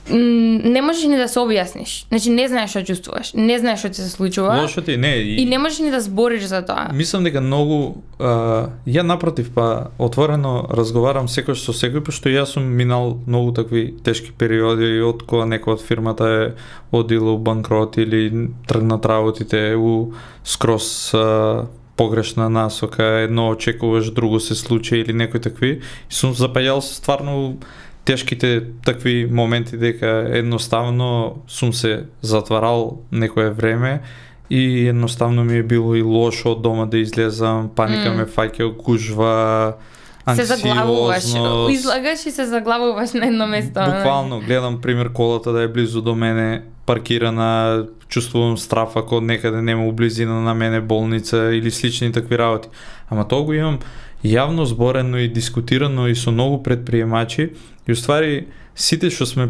не можеш ни да се објасниш. Значи не знаеш што чувствуваш, не знаеш што ти се случува. Лошо ти не и, и не можеш ни да збориш за тоа. Мислам дека многу а, ја напротив па отворено разговарам секој со секој, пошто јас сум минал многу такви тешки периоди од кога некој од фирмата е одил у банкрот или тргнат работите у скрос а, погрешна насока, едно очекуваш, друго се случи или некои такви. И сум запаѓал стварно тешките такви моменти дека едноставно сум се затварал некое време и едноставно ми е било и лошо од дома да излезам, паника mm. ме фаќа, гужва, анксиозност. Излагаш и се заглавуваш на едно место. Буквално, гледам пример колата да е близу до мене, паркирана, чувствувам страф ако некаде нема у близина на мене болница или слични такви работи. Ама тоа го имам јавно зборено и дискутирано и со многу предприемачи и уствари сите што сме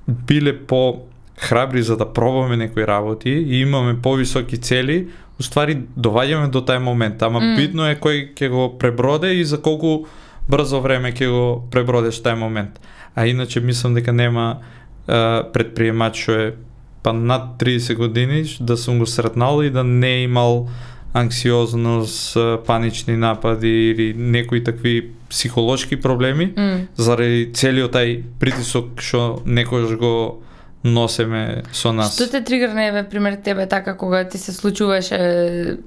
биле по храбри за да пробаме некои работи и имаме повисоки цели, уствари доваѓаме до тај момент, ама mm. битно е кој ќе го преброде и за колку брзо време ќе го пребродеш тај момент. А иначе мислам дека нема а, предприемач што е па над триесет години да сум го сретнал и да не е имал анксиозност, панични напади или некои такви психолошки проблеми mm. заради целиот тај притисок што некојаш го носеме со нас. Што те тригерна е пример тебе така кога ти се случуваше?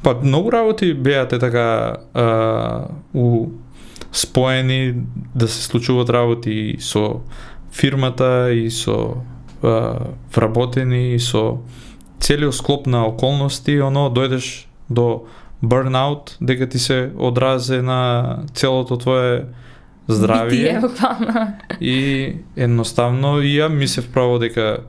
Па многу работи беа те така а, у споени да се случуваат работи и со фирмата и со а, вработени и со целиот склоп на околности, оно дојдеш до burnout, дека ти се одразе на целото твое здравие. Битие, и едноставно и ја мислев право дека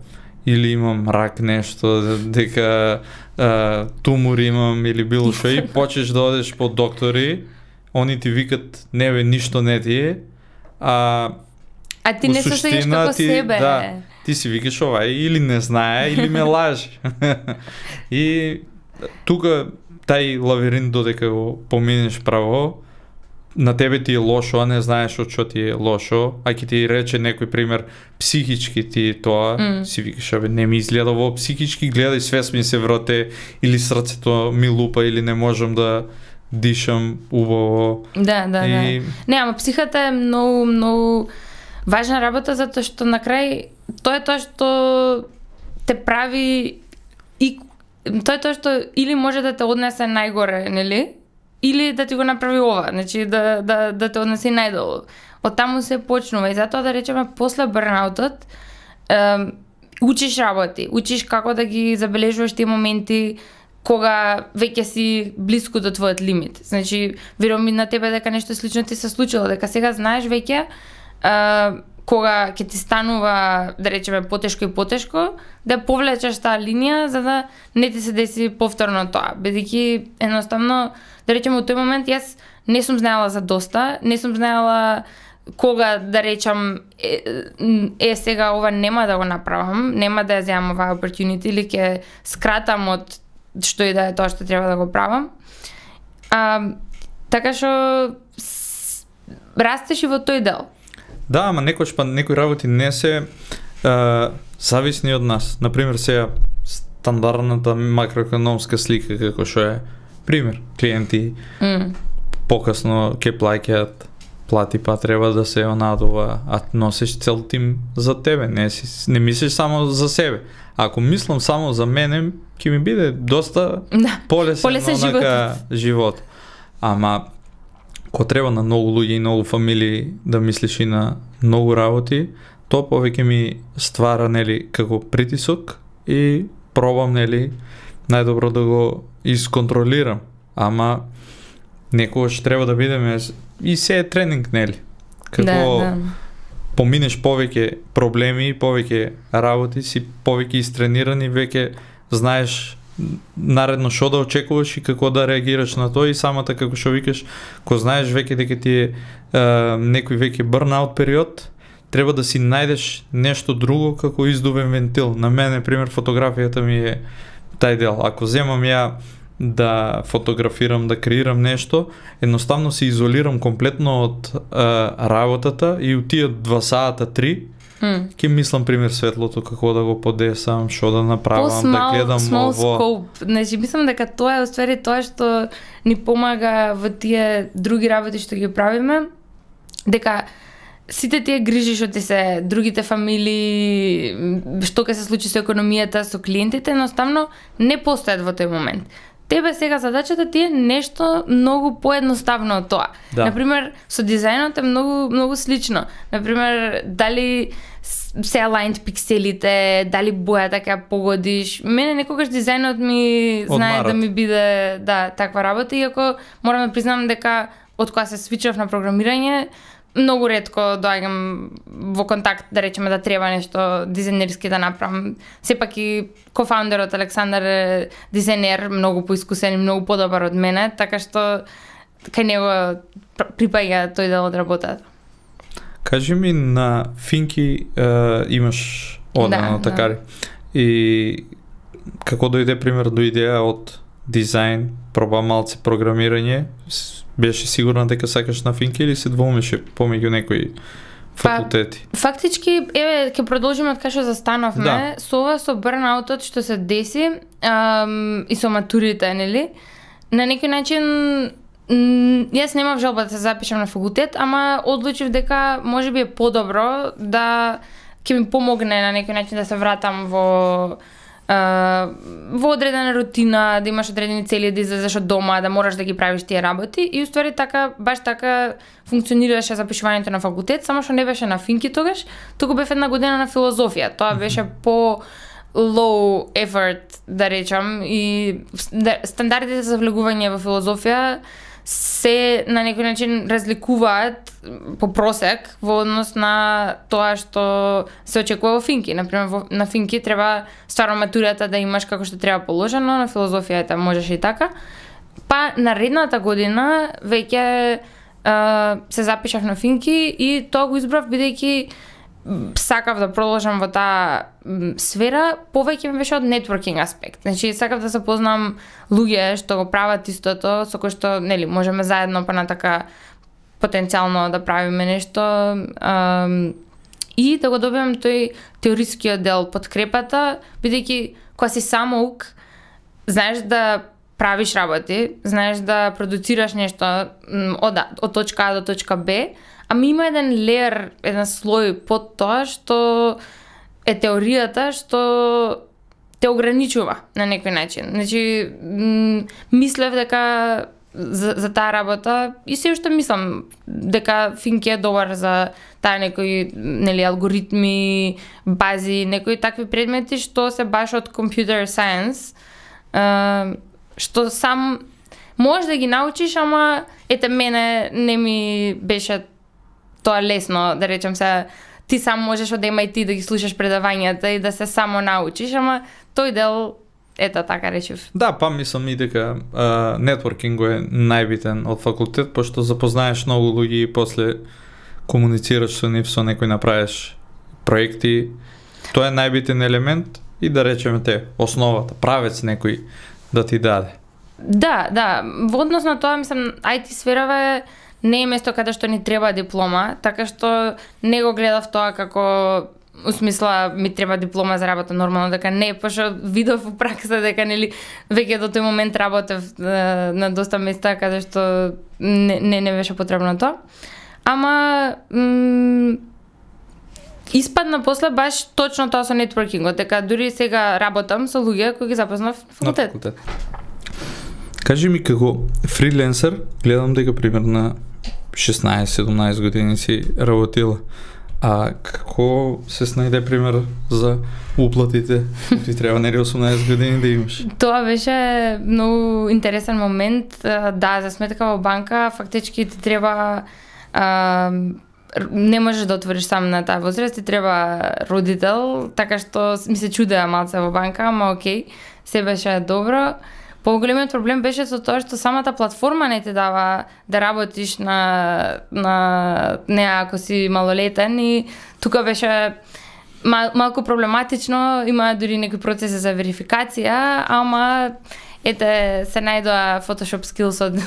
или имам рак нешто, дека а, тумор имам или било што и почнеш да одеш по доктори, они ти викат не бе ништо не ти е, а а ти не се сеќаш како ти, себе. Да, ти си викаш ова или не знае или ме лажи. И тука тај лавиринт додека го поминеш право, на тебе ти е лошо, а не знаеш од што ти е лошо, а ќе ти рече некој пример психички ти тоа, mm. си викаш абе не ми изгледа во психички, гледај свест ми се врате или срцето ми лупа или не можам да дишам убаво. Да, да, и... да. Не, ама психата е многу, многу важна работа затоа што на крај тоа е тоа што те прави и тоа е тоа што или може да те однесе најгоре, нели? Или да ти го направи ова, значи да да да те однеси најдолу. Од таму се почнува и затоа да речеме после бърнаутот е, учиш работи, учиш како да ги забележуваш тие моменти кога веќе си блиску до твојот лимит. Значи, верувам и на тебе дека нешто слично ти се случило, дека сега знаеш веќе Uh, кога ќе ти станува, да речеме, потешко и потешко, да повлечеш таа линија за да не ти се деси повторно тоа. Бидејќи едноставно, да речеме, во тој момент јас не сум знаела за доста, не сум знаела кога да речам е, е сега ова нема да го направам, нема да ја земам оваа opportunity или ќе скратам од што и да е тоа што треба да го правам. Uh, така што растеш и во тој дел. Да, ама некојаш па некои работи не се а, зависни од нас. Например, сега стандардната макроекономска слика како што е пример, клиенти mm. покасно ќе плаќаат плати, па треба да се онадува, а носиш цел тим за тебе, не си не мислиш само за себе. Ако мислам само за мене, ќе ми биде доста да, полесен, полесен живот. живот. Ама ко треба на многу луѓе и многу фамилии да мислиш и на многу работи, тоа повеќе ми ствара нели како притисок и пробам нели најдобро да го исконтролирам. Ама некогаш треба да бидеме и се е тренинг нели. Како да, да. Поминеш повеќе проблеми, повеќе работи, си повеќе истрениран и веќе знаеш наредно што да очекуваш и како да реагираш на тоа и самата како што викаш, ко знаеш веќе дека ти е, е некој веќе бърнаут период, треба да си најдеш нешто друго како издувен вентил. На мене, пример, фотографијата ми е тај дел. Ако земам ја да фотографирам, да креирам нешто, едноставно се изолирам комплетно од а, работата и у тие два сата, три, mm. ке мислам, пример, светлото, како да го подесам, што да направам, small, да гледам small ово. Scope. Значи, мислам дека тоа е уствари тоа што ни помага во тие други работи што ги правиме, дека сите тие грижи што ти се другите фамилии, што ќе се случи со економијата, со клиентите, едноставно не постојат во тој момент. Тебе сега задачата ти е нешто многу поедноставно од тоа. Да. Например, со дизајнот е многу многу слично. Например, дали се aligned пикселите, дали бојата ќе ја погодиш. Мене некогаш дизајнот ми знае Одмарат. Да ми биде да таква работа, иако морам да признам дека од кога се свичав на програмирање, многу ретко доаѓам во контакт, да речеме, да треба нешто дизајнерски да направам. Сепак и кофаундерот Александар е дизајнер, многу поискусен и многу подобар од мене, така што кај него припаѓа тој дел од работата. Кажи ми, на Финки е, имаш одено да, такари. Да. И како дојде, пример, до идеја од дизајн, проба малце програмирање, беше сигурна дека сакаш на Финки или се двоумеше помеѓу некои факултети? Па, фактички, еве, ќе продолжиме од кај што застановме. Да. Со ова, со бърнаутот што се деси ам, и со матурите, нели? На некој начин, м, јас немав желба да се запишам на факултет, ама одлучив дека можеби е подобро да ќе ми помогне на некој начин да се вратам во Uh, во одредена рутина, да имаш одредени цели, да излезеш од дома, да мораш да ги правиш тие работи и уствари така, баш така функционираше запишувањето на факултет, само што не беше на Финки тогаш, туку бев една година на филозофија. Тоа беше по low effort, да речам, и стандардите за влегување во филозофија се на некој начин разликуваат по просек во однос на тоа што се очекува во Финки. Например, во, на Финки треба стварно матурата да имаш како што треба положено, на филозофијата можеш и така. Па наредната година веќе се запишав на Финки и тоа го избрав бидејќи сакав да продолжам во таа сфера, повеќе ми беше од нетворкинг аспект. Значи, сакав да се познам луѓе што го прават истото, со кои што, нели, можеме заедно па на така потенцијално да правиме нешто ам, и да го добиам тој теорискиот дел, подкрепата, бидејќи кога си самоук, знаеш да правиш работи, знаеш да продуцираш нешто од, од точка А до точка Б, ами има еден леер, еден слој под тоа што е теоријата што те ограничува на некој начин. Значи, мислев дека за, за таа работа и се уште мислам дека Финки е добар за таа некои, нели, алгоритми, бази, некои такви предмети што се баш од computer science, што сам можеш да ги научиш, ама ете мене не ми беше тоа лесно, да речем се, ти сам можеш од Ем Ај Ти да ги слушаш предавањата и да се само научиш, ама тој дел, ета така речев. Да, па мислам и дека нетворкинг е најбитен од факултет, пошто запознаеш многу луѓе и после комуницираш со нив, со некој направиш проекти. Тоа е најбитен елемент и да речеме те, основата, правец некој да ти даде. Да, да, во однос на тоа, мислам, Ај Ти сферава е не е место каде што ни треба диплома, така што не го гледав тоа како усмисла ми треба диплома за работа, нормално дека не, пошто видов во пракса дека нели веќе до тој момент работев на доста места каде што не не, не беше потребно тоа. Ама м, испадна после баш точно тоа со нетворкингот, дека дури сега работам со луѓе кои ги запознав на факултет. факултет. Кажи ми, како фриленсер, гледам дека примерно шеснаесет-седумнаесет години си работила. А како се снајде, пример, за уплатите? Ти треба нели осумнаесет години да имаш. Тоа беше многу интересен момент. Да, за сметка во банка, фактички ти треба а, не можеш да отвориш сам на таа возраст, ти треба родител, така што ми се чудеа малце во банка, ама окей, се беше добро. Поголемиот проблем беше со тоа што самата платформа не те дава да работиш на на неа ако си малолетен и тука беше мал, малку проблематично, има дури некои процеси за верификација, ама ете се најдоа Photoshop skills од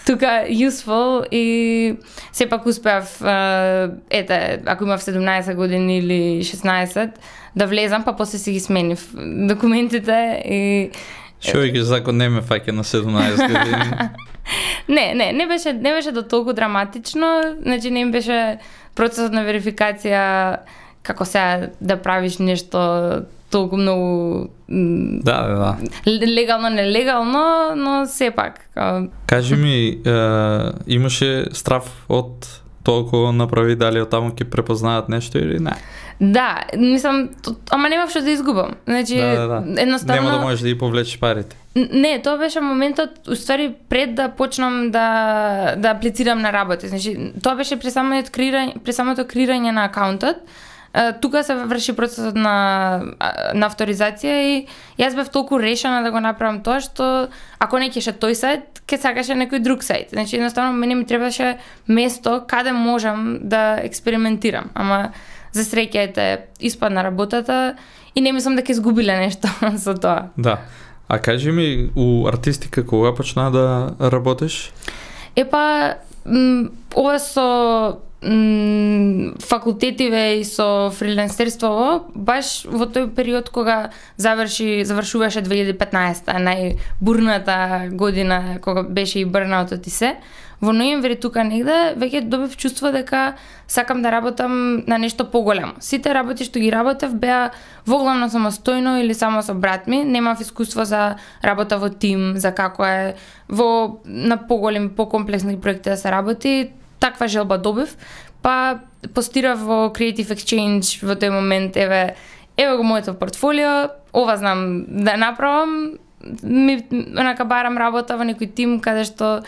тука useful и сепак успеав ете ако имав седумнаесет години или шеснаесет да влезам, па после си ги сменив документите и Што ги закон не ме фаќа на седумнаесет години. не, не, не беше не беше до толку драматично, значи не им беше процесот на верификација како сега да правиш нешто толку многу да, да, да. легално, нелегално, но сепак. Кажи ми, е, имаше страф од тоа кога направи, дали од таму ќе препознаат нешто или не? Да, мислам, ама немав што да изгубам. Значи, да, да, да. едноставно нема да можеш да ги повлечеш парите. Не, тоа беше моментот, уствари пред да почнам да да аплицирам на работа. Значи, тоа беше при самото креирање, при самото креирање на акаунтот. Тука се врши процесот на на авторизација и јас бев толку решена да го направам тоа што ако не кеше тој сајт, ќе сакаше некој друг сајт. Значи едноставно мене ми требаше место каде можам да експериментирам. Ама за среќа ете испадна работата и не мислам дека изгубиле нешто со тоа. Да. А кажи ми, у артистика кога почна да работиш? Епа, ова со факултетиве и со фрилансерството баш во тој период кога заврши завршуваше две илјади и петнаесета, најбурната година кога беше и бурнаутот и се. Во ноември тука негде веќе добив чувство дека сакам да работам на нешто поголемо. Сите работи што ги работев беа воглавно самостојно или само со брат ми, немав искуство за работа во тим, за како е во на поголеми, покомплексни проекти да се работи. Таква желба добив, па постирав во Creative Exchange во тој момент, еве, еве го моето портфолио, ова знам да направам, ми онака барам работа во некој тим каде што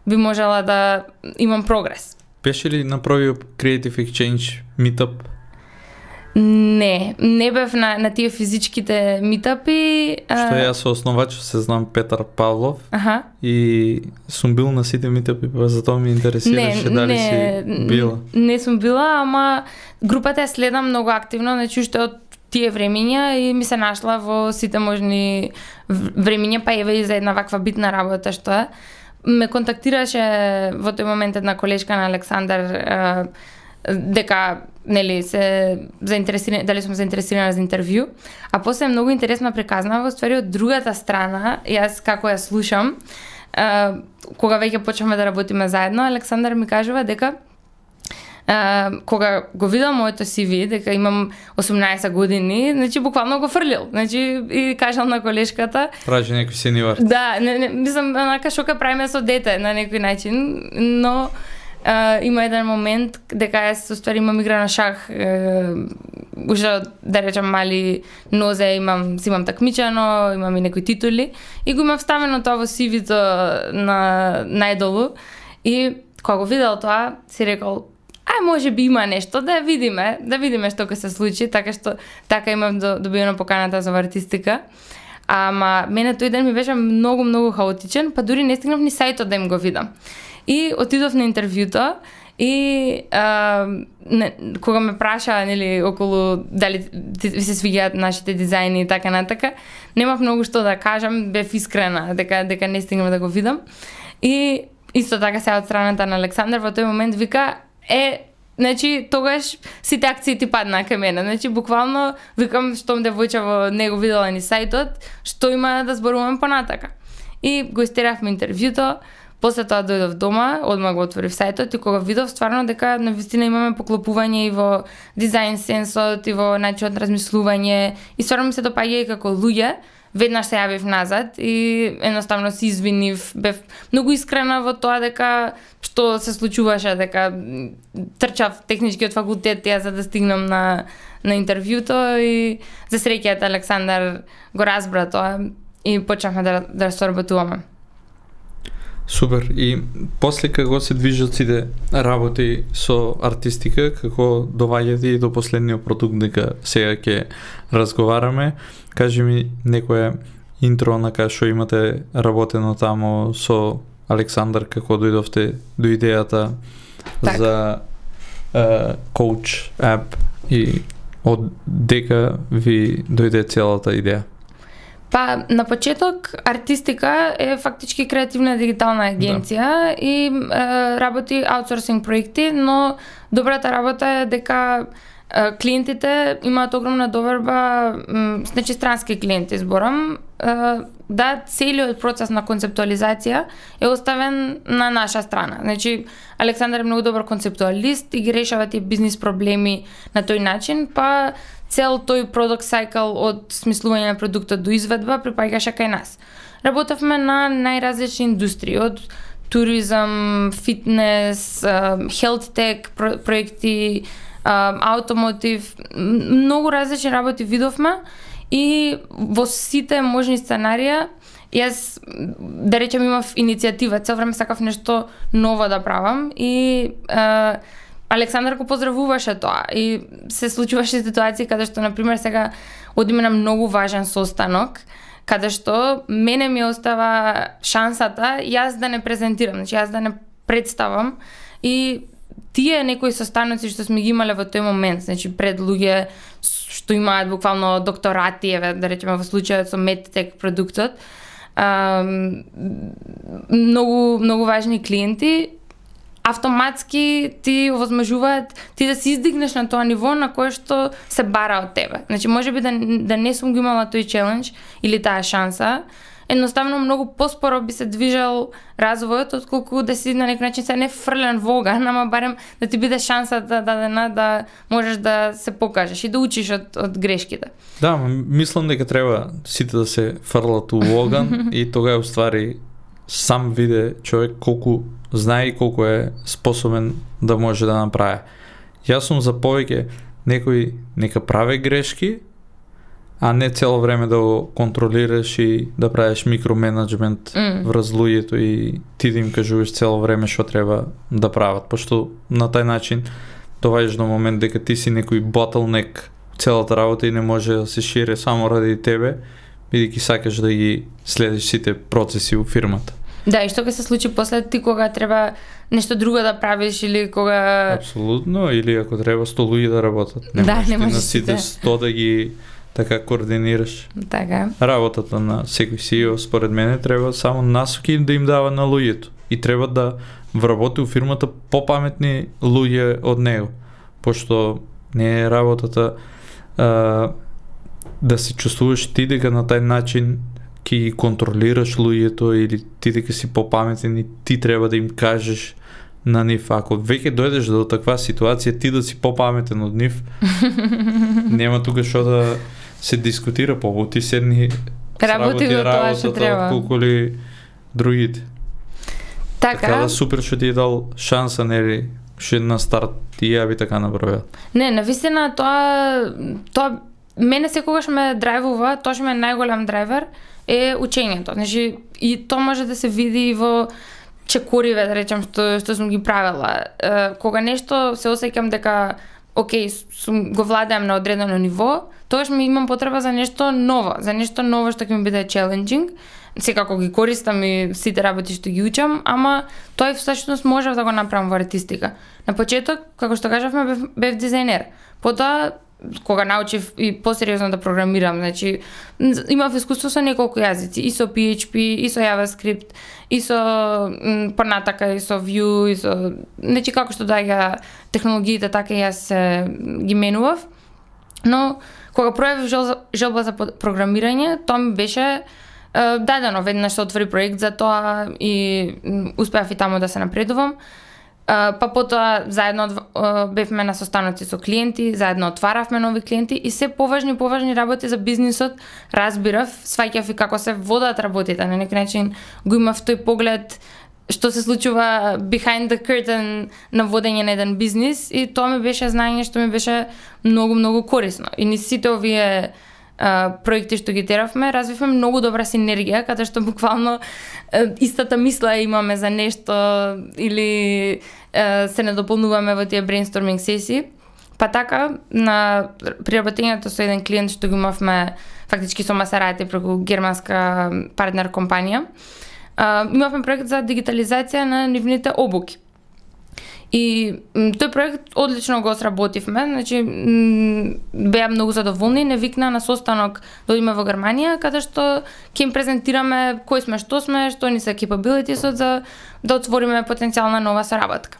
би можела да имам прогрес. Беше ли направил Creative Exchange meetup? Не, не бев на, на тие физичките митапи. Што јас со основач се знам Петар Павлов. Аха. И сум бил на сите митапи, па затоа ми интересираше не, дали не, си била. Не, не сум била, ама групата ја следам многу активно, значи уште од тие времиња и ми се нашла во сите можни времиња, па еве и за една ваква битна работа што е. Ме контактираше во тој момент една колешка на Александар дека нели се заинтересирани, дали сум заинтересирана за интервју, а после многу интересно приказна во ствари од другата страна, јас како ја слушам, а, кога веќе почнавме да работиме заедно, Александар ми кажува дека а, кога го видел моето си ви, дека имам осумнаесет години, значи буквално го фрлил. Значи и кажал на колешката, прави некој сенивар. Да, не, не, мислам онака што ка правиме со дете на некој начин, но Uh, има еден момент дека јас уствари имам игра на шах, uh, уште да речам мали нозе, имам си имам такмичено, имам и некои титули и го имам вставено тоа во си ви-то на најдолу и кога го видел тоа си рекол ај може би има нешто да видиме, да видиме што ќе се случи, така што така имам добиено поканата за артистика. Ама мене тој ден ми беше многу многу хаотичен, па дури не стигнав ни сајтот да им го видам. И отидов на интервјуто и а, не, кога ме праша нели околу дали ви се свиѓаат нашите дизајни и така натака, немав многу што да кажам, бев искрена дека дека не стигнав да го видам. И исто така се од страната на Александар во тој момент вика е значи тогаш сите акции ти паднаа кај мене. Значи буквално викам штом девојче во него видела ни сајтот, што има да зборуваме понатака. И го истеравме интервјуто. После тоа дојдов дома, одма го отворив сајтот и кога видов стварно дека навистина имаме поклопување и во дизајн сенсот и во начинот размислување и стварно ми се допаѓа и како луѓе, веднаш се јавив назад и едноставно се извинив, бев многу искрена во тоа дека што се случуваше, дека трчав техничкиот факултет ја за да стигнам на на интервјуто и за среќа Александар го разбра тоа и почнавме да да соработуваме. Супер. И после како се движат сите работи со артистика, како доваѓате и до последниот продукт дека сега ќе разговараме, кажи ми некоја интро на кај што имате работено тамо со Александар како дојдовте до идејата так. за uh, коуч ап и од дека ви дојде целата идеја? Па, на почеток, Артистика е фактички креативна дигитална агенција да. и е, работи аутсорсинг проекти, но добрата работа е дека е, клиентите имаат огромна доверба, м, значи странски клиенти зборам, е, да целиот процес на концептуализација е оставен на наша страна. Значи, Александар е многу добар концептуалист и ги решава тие бизнис проблеми на тој начин, па цел тој продукт сайкл од смислување на продуктот до изведба припаѓаше кај нас. Работевме на најразлични индустрии, од туризам, фитнес, health tech проекти, автомотив, многу различни работи видовме и во сите можни сценарија јас, да речем, имав иницијатива, цел време сакав нешто ново да правам и е, Александар го поздравуваше тоа и се случуваше ситуации каде што, например, сега одиме на многу важен состанок, каде што мене ми остава шансата јас да не презентирам, значи јас да не представам и тие некои состаноци што сме ги имале во тој момент, значи пред луѓе што имаат буквално докторати, еве, да речеме во случајот со медтек продуктот, многу многу важни клиенти, автоматски ти овозможуваат ти да се издигнеш на тоа ниво на кое што се бара од тебе. Значи, можеби да, да не сум го имала тој челендж или таа шанса, едноставно многу поспоро би се движел развојот, отколку да си на некој начин се не фрлен во оган, ама барем да ти биде шансата дадена да можеш да се покажеш и да учиш од, од грешките. Да, мислам дека треба сите да се фрлат у оган и тогава уствари сам виде човек колку знае и колку е способен да може да направи. Јас сум за повеќе некој нека прави грешки, а не цело време да го контролираш и да правиш микроменеджмент mm. врз луѓето и ти да им кажуваш цело време што треба да прават, пошто на тај начин доваѓаш до момент дека ти си некој bottleneck целата работа и не може да се шири само ради тебе, бидејќи сакаш да ги следиш сите процеси у фирмата. Да, и што ќе се случи после ти кога треба нешто друго да правиш или кога... Апсолутно, или ако треба сто луѓе да работат. Не да, можеш не ти можеш на сите сто да ги така координираш. Така. Работата на секој си и о според мене треба само насоки да им дава на луѓето и треба да вработи у фирмата попаметни луѓе од него, пошто не е работата а, да се чувствуваш ти дека на тај начин ќе ги контролираш луѓето или ти дека си попаметен и ти треба да им кажеш на нив. Ако веќе дојдеш до таква ситуација ти да си попаметен од нив, нема тука што да се дискутира, побу ти седни работи го тоа што треба. Колку ли другите. Така, така да супер што ти е дал шанса, нели, што на старт и ја би така направил. Не, навистина тоа тоа мене секогаш ме драйвува, тоа што ме е најголем драйвер е учењето. Значи и тоа може да се види и во чекориве, да речем, што што сум ги правела. Е, кога нешто се осеќам дека окей, сум го владеам на одредено ниво, тогаш ми имам потреба за нешто ново, за нешто ново што ќе ми биде челенџинг. Секако ги користам и сите работи што ги учам, ама тоа всушност можев да го направам во артистика. На почеток, како што кажавме, бев, бев дизајнер. Потоа кога научив и посериозно да програмирам, значи имав искуство со неколку јазици, и со пи еич пи, и со JavaScript, и со понатака, и со Vue, и со, значи како што доаѓа технологиите, така и јас ги менував. Но кога пројавив жел, желба за програмирање, тоа ми беше е, дадено, веднаш се отвори проект за тоа и успеав и таму да се напредувам. Uh, па потоа заедно uh, бевме на состаноци со клиенти, заедно отваравме нови клиенти и се поважни поважни работи за бизнисот разбирав, сваќав и како се водат работите, на некој начин го имав тој поглед што се случува behind the curtain на водење на еден бизнис и тоа ми беше знаење што ми беше многу многу корисно. И ни сите овие Uh, проекти што ги теравме, развивме многу добра синергија, каде што буквално uh, истата мисла имаме за нешто или uh, се недополнуваме во тие брейнсторминг сесии. Па така, на приработењето со еден клиент што го имавме фактички со Масерати преку германска партнер компанија, а, имавме проект за дигитализација на нивните обуки. И тој проект одлично го сработивме, значи беа многу задоволни, не викна на состанок да одиме во Германија, каде што ќе им презентираме кои сме, што сме, што ни се capabilities за да отвориме потенцијална нова соработка.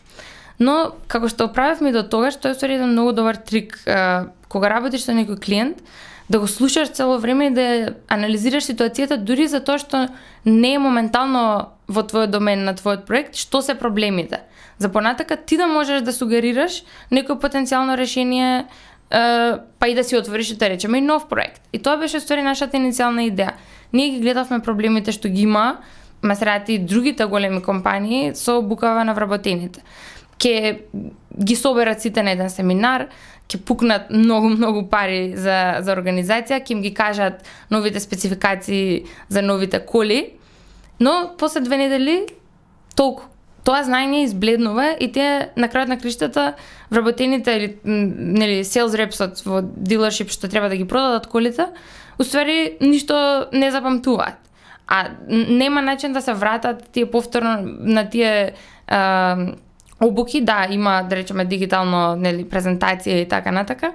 Но како што правевме до тогаш, тоа е ствари еден многу добар трик, кога работиш со некој клиент, да го слушаш цело време и да анализираш ситуацијата дури за тоа што не е моментално во твојот домен на твојот проект, што се проблемите. За понатака ти да можеш да сугерираш некој потенцијално решение, па и да си отвориш, да речеме, и нов проект. И тоа беше ствари нашата иницијална идеја. Ние ги гледавме проблемите што ги има Масерати и другите големи компании со букава на вработените. Ке ги соберат сите на еден семинар, ќе пукнат многу многу пари за за организација, ќе им ги кажат новите спецификации за новите коли, но после две недели толку тоа знаење избледнува и тие на крајот на криштата вработените или нели sales reps во дилершип што треба да ги продадат колите, уствари ништо не запамтуваат. А нема начин да се вратат тие повторно на тие а, обуки, да, има, да речеме, дигитално, нели, презентација и така натака,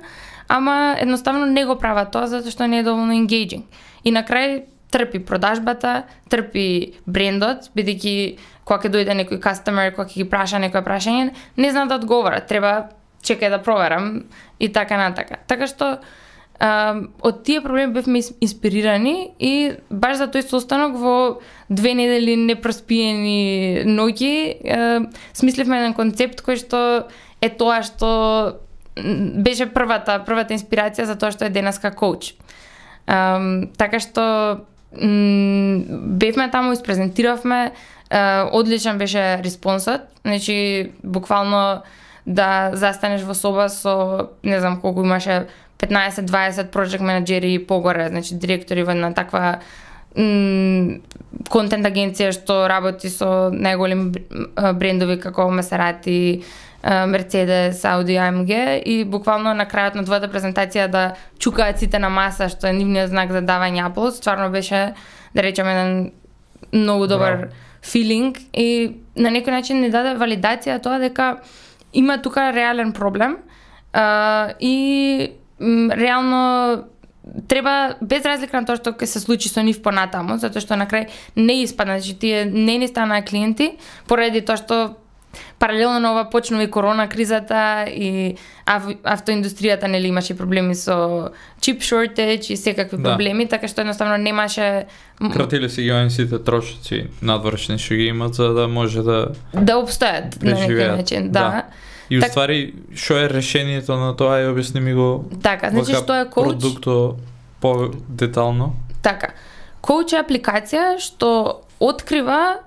ама едноставно не го прават тоа затоа што не е доволно engaging. И на крај трпи продажбата, трпи брендот, бидејќи кога ќе дојде некој customer, кога ќе ги праша некој прашање, не знаат да одговорат, треба чекај да проверам и така натака. Така што Uh, од тие проблеми бевме инспирирани и баш за тој состанок во две недели непроспиени ноќи uh, смисливме еден концепт кој што е тоа што беше првата првата инспирација за тоа што е денеска коуч. Um, така што м, бевме таму, испрезентиравме, uh, одличен беше респонсот, значи буквално да застанеш во соба со не знам колку имаше петнаесет дваесет project менеджери и погоре, значи директори во една таква контент агенција што работи со најголеми брендови како Масерати, Мерцедес, Ауди, А Ем Ге и буквално на крајот на двојата презентација да чукаат сите на маса, што е нивниот знак за давање аплауз, стварно беше, да речеме, еден многу добар филинг и на некој начин ни даде валидација тоа дека има тука реален проблем uh, и м, реално треба, без разлика на тоа што ќе се случи со нив понатаму, затоа што на крај не испадна, значи тие не ни станаа клиенти, поради тоа што паралелно на ова почнува и корона кризата и ав, автоиндустријата нели имаше проблеми со чип shortage и секакви да. проблеми, така што едноставно немаше кратиле се ги сите трошоци надворешни што ги имат за да може да да обстојат на некој начин, да. да. И так... уствари, што е решението на тоа и објасни ми го така, значи што е коуч? Продукто по-детално. Така, коуч е апликација што открива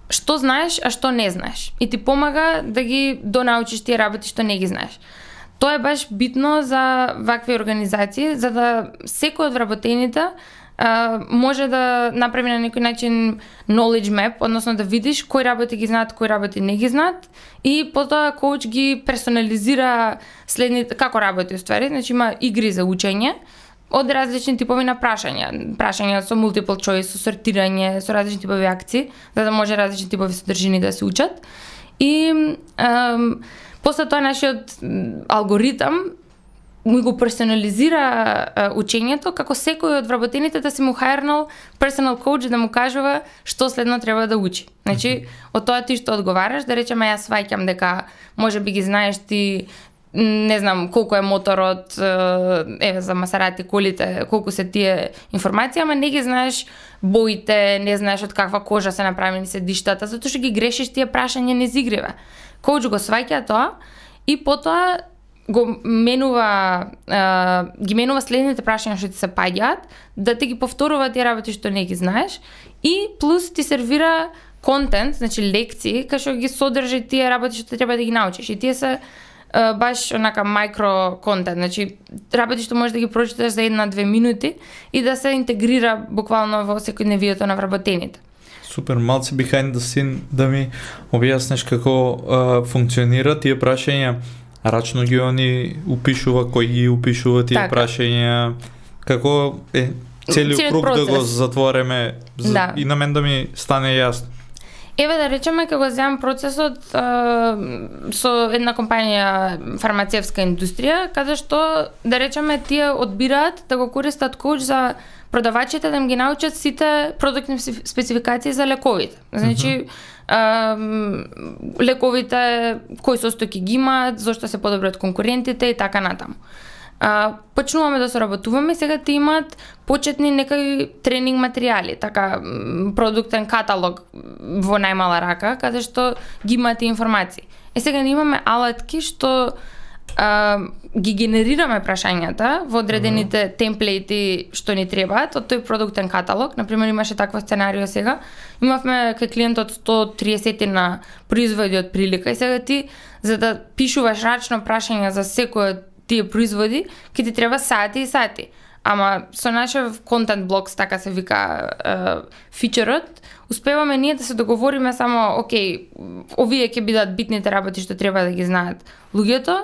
што знаеш, а што не знаеш. И ти помага да ги донаучиш тие работи што не ги знаеш. Тоа е баш битно за вакви организации, за да секој од вработените Uh, може да направи на некој начин knowledge map, односно да видиш кои работи ги знаат, кои работи не ги знаат и потоа коуч ги персонализира следните, како работи уствари, значи има игри за учење од различни типови на прашања, прашања со multiple choice, со сортирање, со различни типови акции, за да може различни типови содржини да се учат. И um, после тоа нашиот алгоритам ми го персонализира uh, учењето, како секој од вработените да се му хајрнал personal coach да му кажува што следно треба да учи. Значи, од тоа ти што одговараш, да речеме јас сваќам дека може би ги знаеш ти, не знам колку е моторот, еве за Масерати колите, колку се тие информации, ама не ги знаеш боите, не знаеш од каква кожа се направени седиштата, затоа што ги грешиш тие прашања незигриве. Коуч го сваќа тоа и потоа го менува, а, ги менува следните прашања што ти се паѓаат, да ти ги повторува тие работи што не ги знаеш и плюс ти сервира контент, значи лекции, кај што ги содржи тие работи што треба да ги научиш. И тие се а, баш онака микро контент, значи работи што можеш да ги прочиташ за една-две минути и да се интегрира буквално во секојдневието на вработените. Супер, малце behind the scene да ми објасниш како а, функционира тие прашања. рачно ги они упишува, кој ги упишува тие Така. прашања, како е целиот Целиот круг да го процес. затвориме за, Да. и на мен да ми стане јасно. Еве да речеме како земам процесот а, со една компанија фармацевска индустрија, каде што да речеме тие одбираат да го користат коуч за продавачите да им ги научат сите продуктни специ- спецификации за лековите. Значи а, лековите кои состојки ги имаат, зошто се подобри од конкурентите и така натаму. А, почнуваме да соработуваме, сега ти имаат почетни некои тренинг материјали, така м, продуктен каталог во најмала рака, каде што ги имате информации. Е сега ние имаме алатки што а, ги генерираме прашањата во одредените темплеити што ни требаат од тој продуктен каталог. Например, имаше такво сценарио сега. Имавме кај клиентот сто триесет на производи од прилика и сега ти за да пишуваш рачно прашања за секој од тие производи, ќе ти треба сати и сати. Ама со нашев контент блокс, така се вика е, фичерот, успеваме ние да се договориме само, окей, овие ќе бидат битните работи што треба да ги знаат луѓето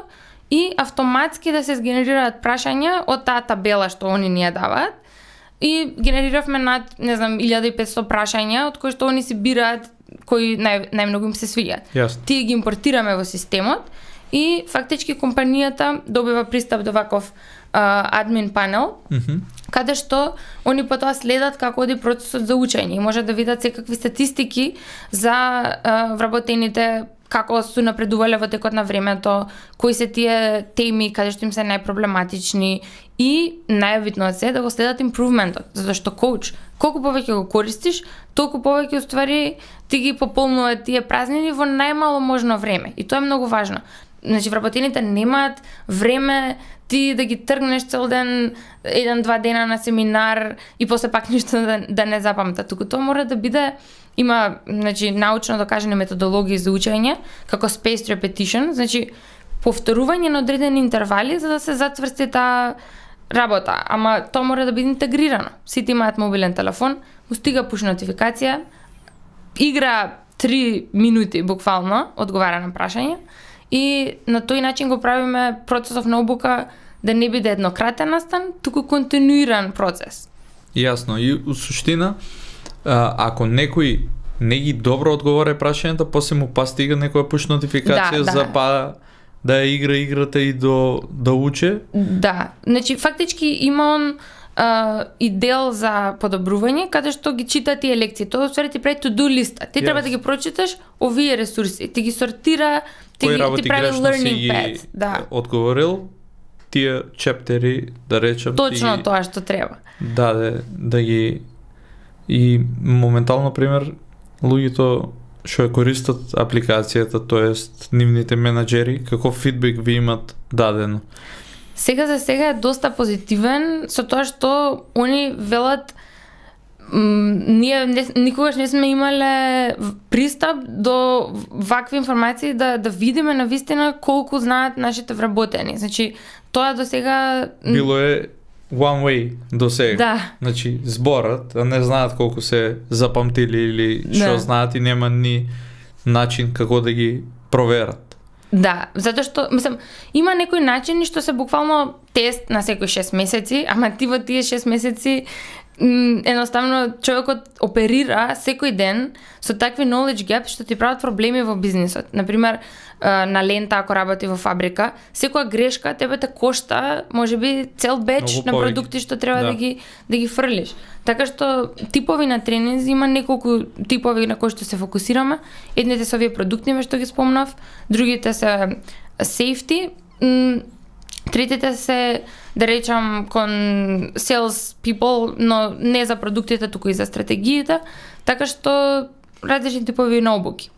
и автоматски да се сгенерираат прашања од таа табела што они ни ја даваат. И генериравме над, не знам, илјада и петстотини прашања од кои што они си бираат кои нај, најмногу им се свиѓаат. Јасно. Тие ги импортираме во системот и фактички компанијата добива пристап до ваков а, админ панел, Мгм. каде што они потоа следат како оди процесот за учење и може да видат секакви статистики за а, вработените како су напредувале во текот на времето, кои се тие теми каде што им се најпроблематични и најбитно од се да го следат импрувментот, затоа што коуч колку повеќе го користиш, толку повеќе уствари ти ги пополнува тие празнини во најмало можно време и тоа е многу важно. Значи вработените немаат време ти да ги тргнеш цел ден, еден-два дена на семинар и после пак ништо да, да не запамтат. Туку тоа мора да биде, има значи, научно докажани методологии за учење, како spaced repetition, значи повторување на одредени интервали за да се зацврсти таа работа. Ама тоа мора да биде интегрирано. Сите имаат мобилен телефон, му стига пуш нотификација, игра три минути буквално, одговара на прашање, и на тој начин го правиме процесов на обука да не биде еднократен настан, туку континуиран процес. Јасно. И у суштина, а, ако некој не ги добро одговара прашањата, после му па стига некоја пуш нотификација Да, да. за па да ја игра играта и до да уче. Да, значи фактички има он а, и дел за подобрување, каде што ги чита тие лекции. Тоа ствари ти прави to-do листа. Ти Yes. треба да ги прочиташ овие ресурси, ти ги сортира, ти, Кои ги, работи ти прави грешно си learning ги path. Да, одговорил, тие чептери, да речем, точно ти тоа што треба. даде да ги и моментално пример луѓето што ја користат апликацијата, тоест нивните менаџери, каков фидбек ви имат дадено? Сега за сега е доста позитивен со тоа што они велат м, ние не, никогаш не сме имале в- пристап до вакви информации да да видиме навистина колку знаат нашите вработени. Значи тоа до сега м, Било е one way до сега. Да. Значи зборат, а не знаат колку се запамтили или што Да. знаат и нема ни начин како да ги проверат. Да, затоа што, мислам, има некои начини што се буквално тест на секои шест месеци, ама ти во тие шест месеци м, едноставно човекот оперира секој ден со такви knowledge gaps што ти прават проблеми во бизнисот. Например, а, на лента ако работи во фабрика, секоја грешка тебе те кошта, можеби цел беч Многу на повеќе. продукти што треба да, Да. ги да ги фрлиш. Така што типови на тренинзи има неколку типови на кои што се фокусираме. Едните се овие продуктни што ги спомнав, другите се safety, м, третите се да речам кон sales people, но не за продуктите, туку и за стратегиите, така што различни типови на обуки.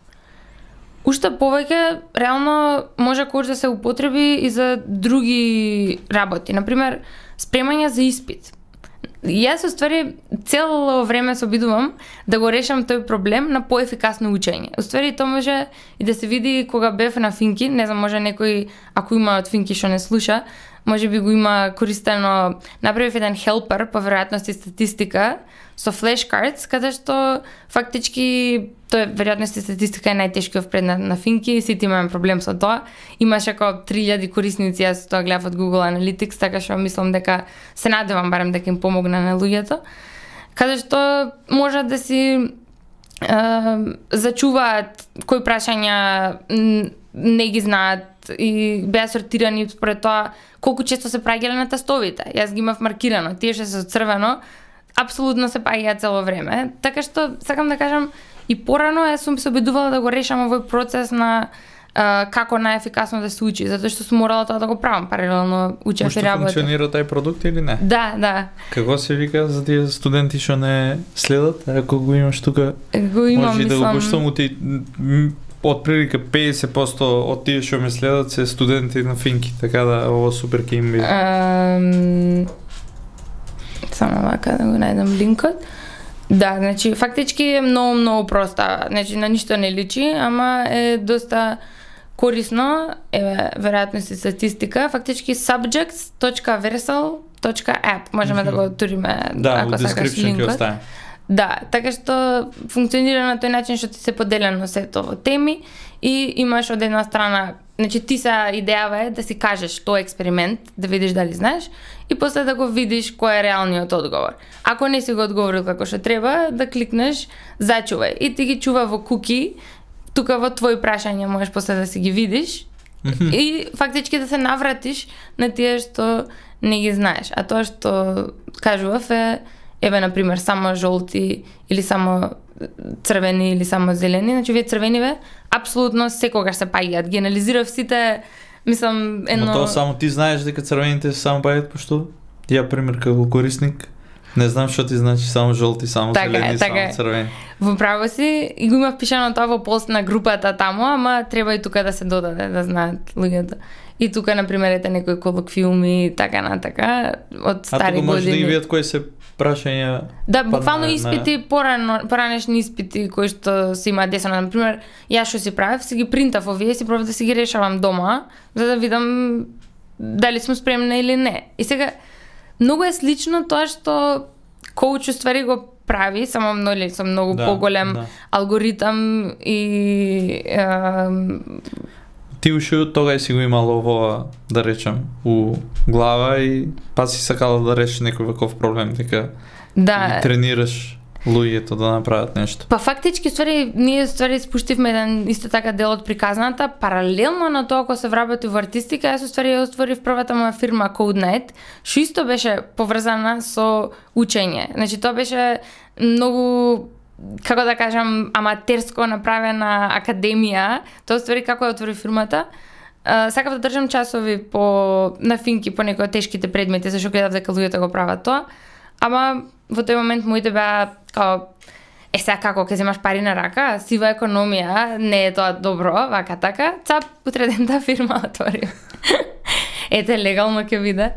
Уште повеќе, реално може коуч да се употреби и за други работи. Например, спремање за испит. Јас уствари цело време се обидувам да го решам тој проблем на поефикасно учење. Уствари тоа може и да се види кога бев на Финки, не знам, може некој ако има од Финки што не слуша, можеби го има користено, направив еден хелпер по веројатност и статистика со flashcards, каде што фактички тој веројатност и статистика е најтешкиот предмет на Финки, сите имаме проблем со тоа. Имаше како три илјади корисници, јас тоа гледав од Google Analytics, така што мислам дека се надевам барем дека им помогна на луѓето. Каде што можат да си зачуваат кои прашања не ги знаат и беа сортирани според тоа колку често се праќале на тестовите. Јас ги имав маркирано, тие што се црвено апсолутно се паѓаат цело време. Така што сакам да кажам и порано јас сум се обидувала да го решам овој процес на Uh, како најефикасно да се учи, затоа што сум морала тоа да го правам паралелно учев и работев. Функционира тај продукт или не? Да, да. Како се вика за тие студенти што не следат? Ако го имаш тука, го имам, може мислам... да го поштам ти од прилика педесет проценти од тие што ме следат се студенти на Финки, така да ово супер ќе им биде. Um, само вака да го најдам линкот. Да, значи фактички е многу многу проста, значи на ништо не личи, ама е доста корисно, е веројатност и статистика, фактички subjects точка versal точка app, можеме mm-hmm. да го отвориме, да, ако сакаш линкот. Да, така што функционира на тој начин што ти се поделено сето во теми и имаш од една страна, значи ти са идејава е да си кажеш тој експеримент, да видиш дали знаеш и после да го видиш кој е реалниот одговор. Ако не си го одговорил како што треба, да кликнеш зачувај и ти ги чува во куки, тука во твои прашања можеш после да си ги видиш mm-hmm. и фактички да се навратиш на тие што не ги знаеш. А тоа што кажував е еве на пример само жолти или само црвени или само зелени, значи вие црвениве апсолутно секогаш се паѓаат. Ги анализирав сите, мислам едно. Но тоа само ти знаеш дека црвените се само паѓаат, пошто ја пример како корисник не знам што ти значи само жолти, само така зелени, е, така само црвени. Во право си и го имав пишано тоа во пост на групата таму, ама треба и тука да се додаде да знаат луѓето. И тука на пример ете некои колоквиуми така на така од стари години. А тука може да ги видат кои се прашања. Да, буквално на, испити, на... порано, поранешни испити кои што се има десено. Например, јас што си правев, си ги принтав овие, си пробав да си ги решавам дома, за да видам дали сум спремна или не. И сега, многу е слично тоа што коуч уствари го прави, само многу, со многу да, поголем да. алгоритам и... Е, ти уште тога си го имало ова, да речем, у глава и па си сакала да решиш некој ваков проблем, дека да. тренираш луѓето да направат нешто. Па фактички, ствари, ние ствари спуштивме еден исто така дел од приказната, паралелно на тоа кога се вработи во артистика, јас ствари ја отворив првата моја фирма CodeNight, што исто беше поврзана со учење. Значи тоа беше многу, како да кажам, аматерско направена академија. Тоа ствари како ја отвори фирмата. Uh, сакав да држам часови по на Финки по некои тешките предмети, зашто гледав дека луѓето го прават тоа. Ама во тој момент моите беа као е сега како ќе земаш пари на рака, сива економија, не е тоа добро, вака така. Цап утре ден таа фирма отвори. Ете легално ќе биде.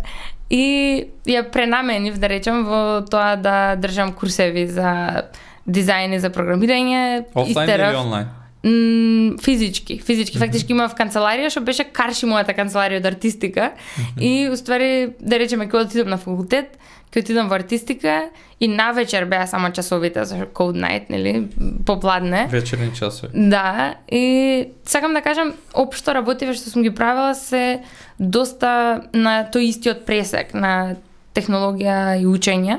И ја пренаменив, да речем, во тоа да држам курсеви за дизајн и за програмирање. Офлайн или онлайн? М, физички, физички. Mm-hmm. Фактички имав канцеларија што беше карши мојата канцеларија од артистика. Mm-hmm. И уствари, да речеме, кога отидам на факултет, кога отидам во артистика и навечер беа само часовите за CodeNight, нели, попладне. Вечерни часови. Да, и сакам да кажам, општо работиве што сум ги правила се доста на тој истиот пресек на технологија и учење,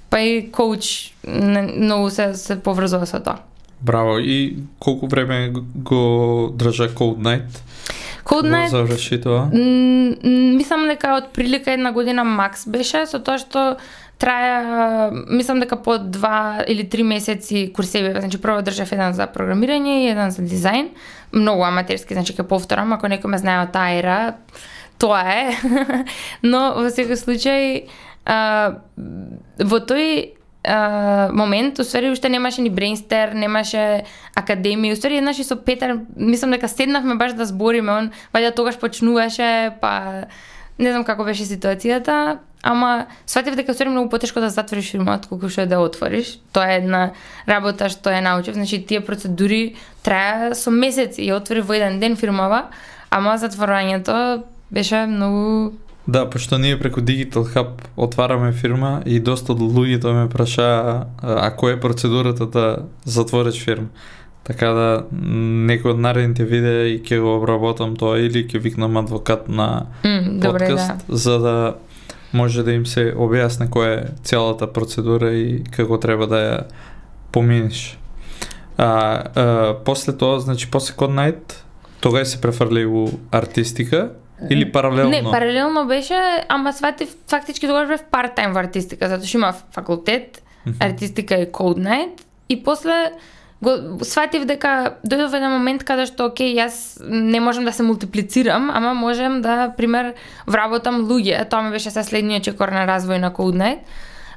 па и коуч многу се, се поврзува со тоа. Браво, и колку време го држа CodeNight? CodeNight, заврши тоа? Мислам дека од прилика една година макс беше, со тоа што трае, мислам дека по два или три месеци курсеви, значи прво држав еден за програмирање и еден за дизајн, многу аматерски, значи ќе повторам, ако некој ме знае од таа ера, тоа е. Но во секој случај, а, во тој Uh, момент, уствари уште немаше ни Brainster, немаше академија, уствари еднаш и со Петар, мислам дека седнавме баш да збориме, он вајде тогаш почнуваше, па не знам како беше ситуацијата, ама сватив дека уствари многу потешко да затвориш фирма отколку што да отвориш. Тоа е една работа што ја научив, значи тие процедури трае со месеци и отвори во еден ден фирмава, ама затворањето беше многу Да, пошто ние преку Digital Hub отвараме фирма и доста од луѓето ме прашаа а која е процедурата да затвориш фирма. Така да некој од наредните видеа и ќе го обработам тоа или ќе викнам адвокат на mm, подкаст, добре, да. за да може да им се објасне која е целата процедура и како треба да ја поминиш. А, а после тоа, значи после Code Night, тогаш се префрли у артистика или паралелно? Не, паралелно беше, ама сватив фактички тогаш бев part-time во артистика, затоа што има факултет, mm-hmm. артистика и Code Night и после го сватив дека дојдов еден момент каде што окей, јас не можам да се мултиплицирам, ама можем да пример вработам луѓе. Тоа ми беше се следниот чекор на развој на Code Night.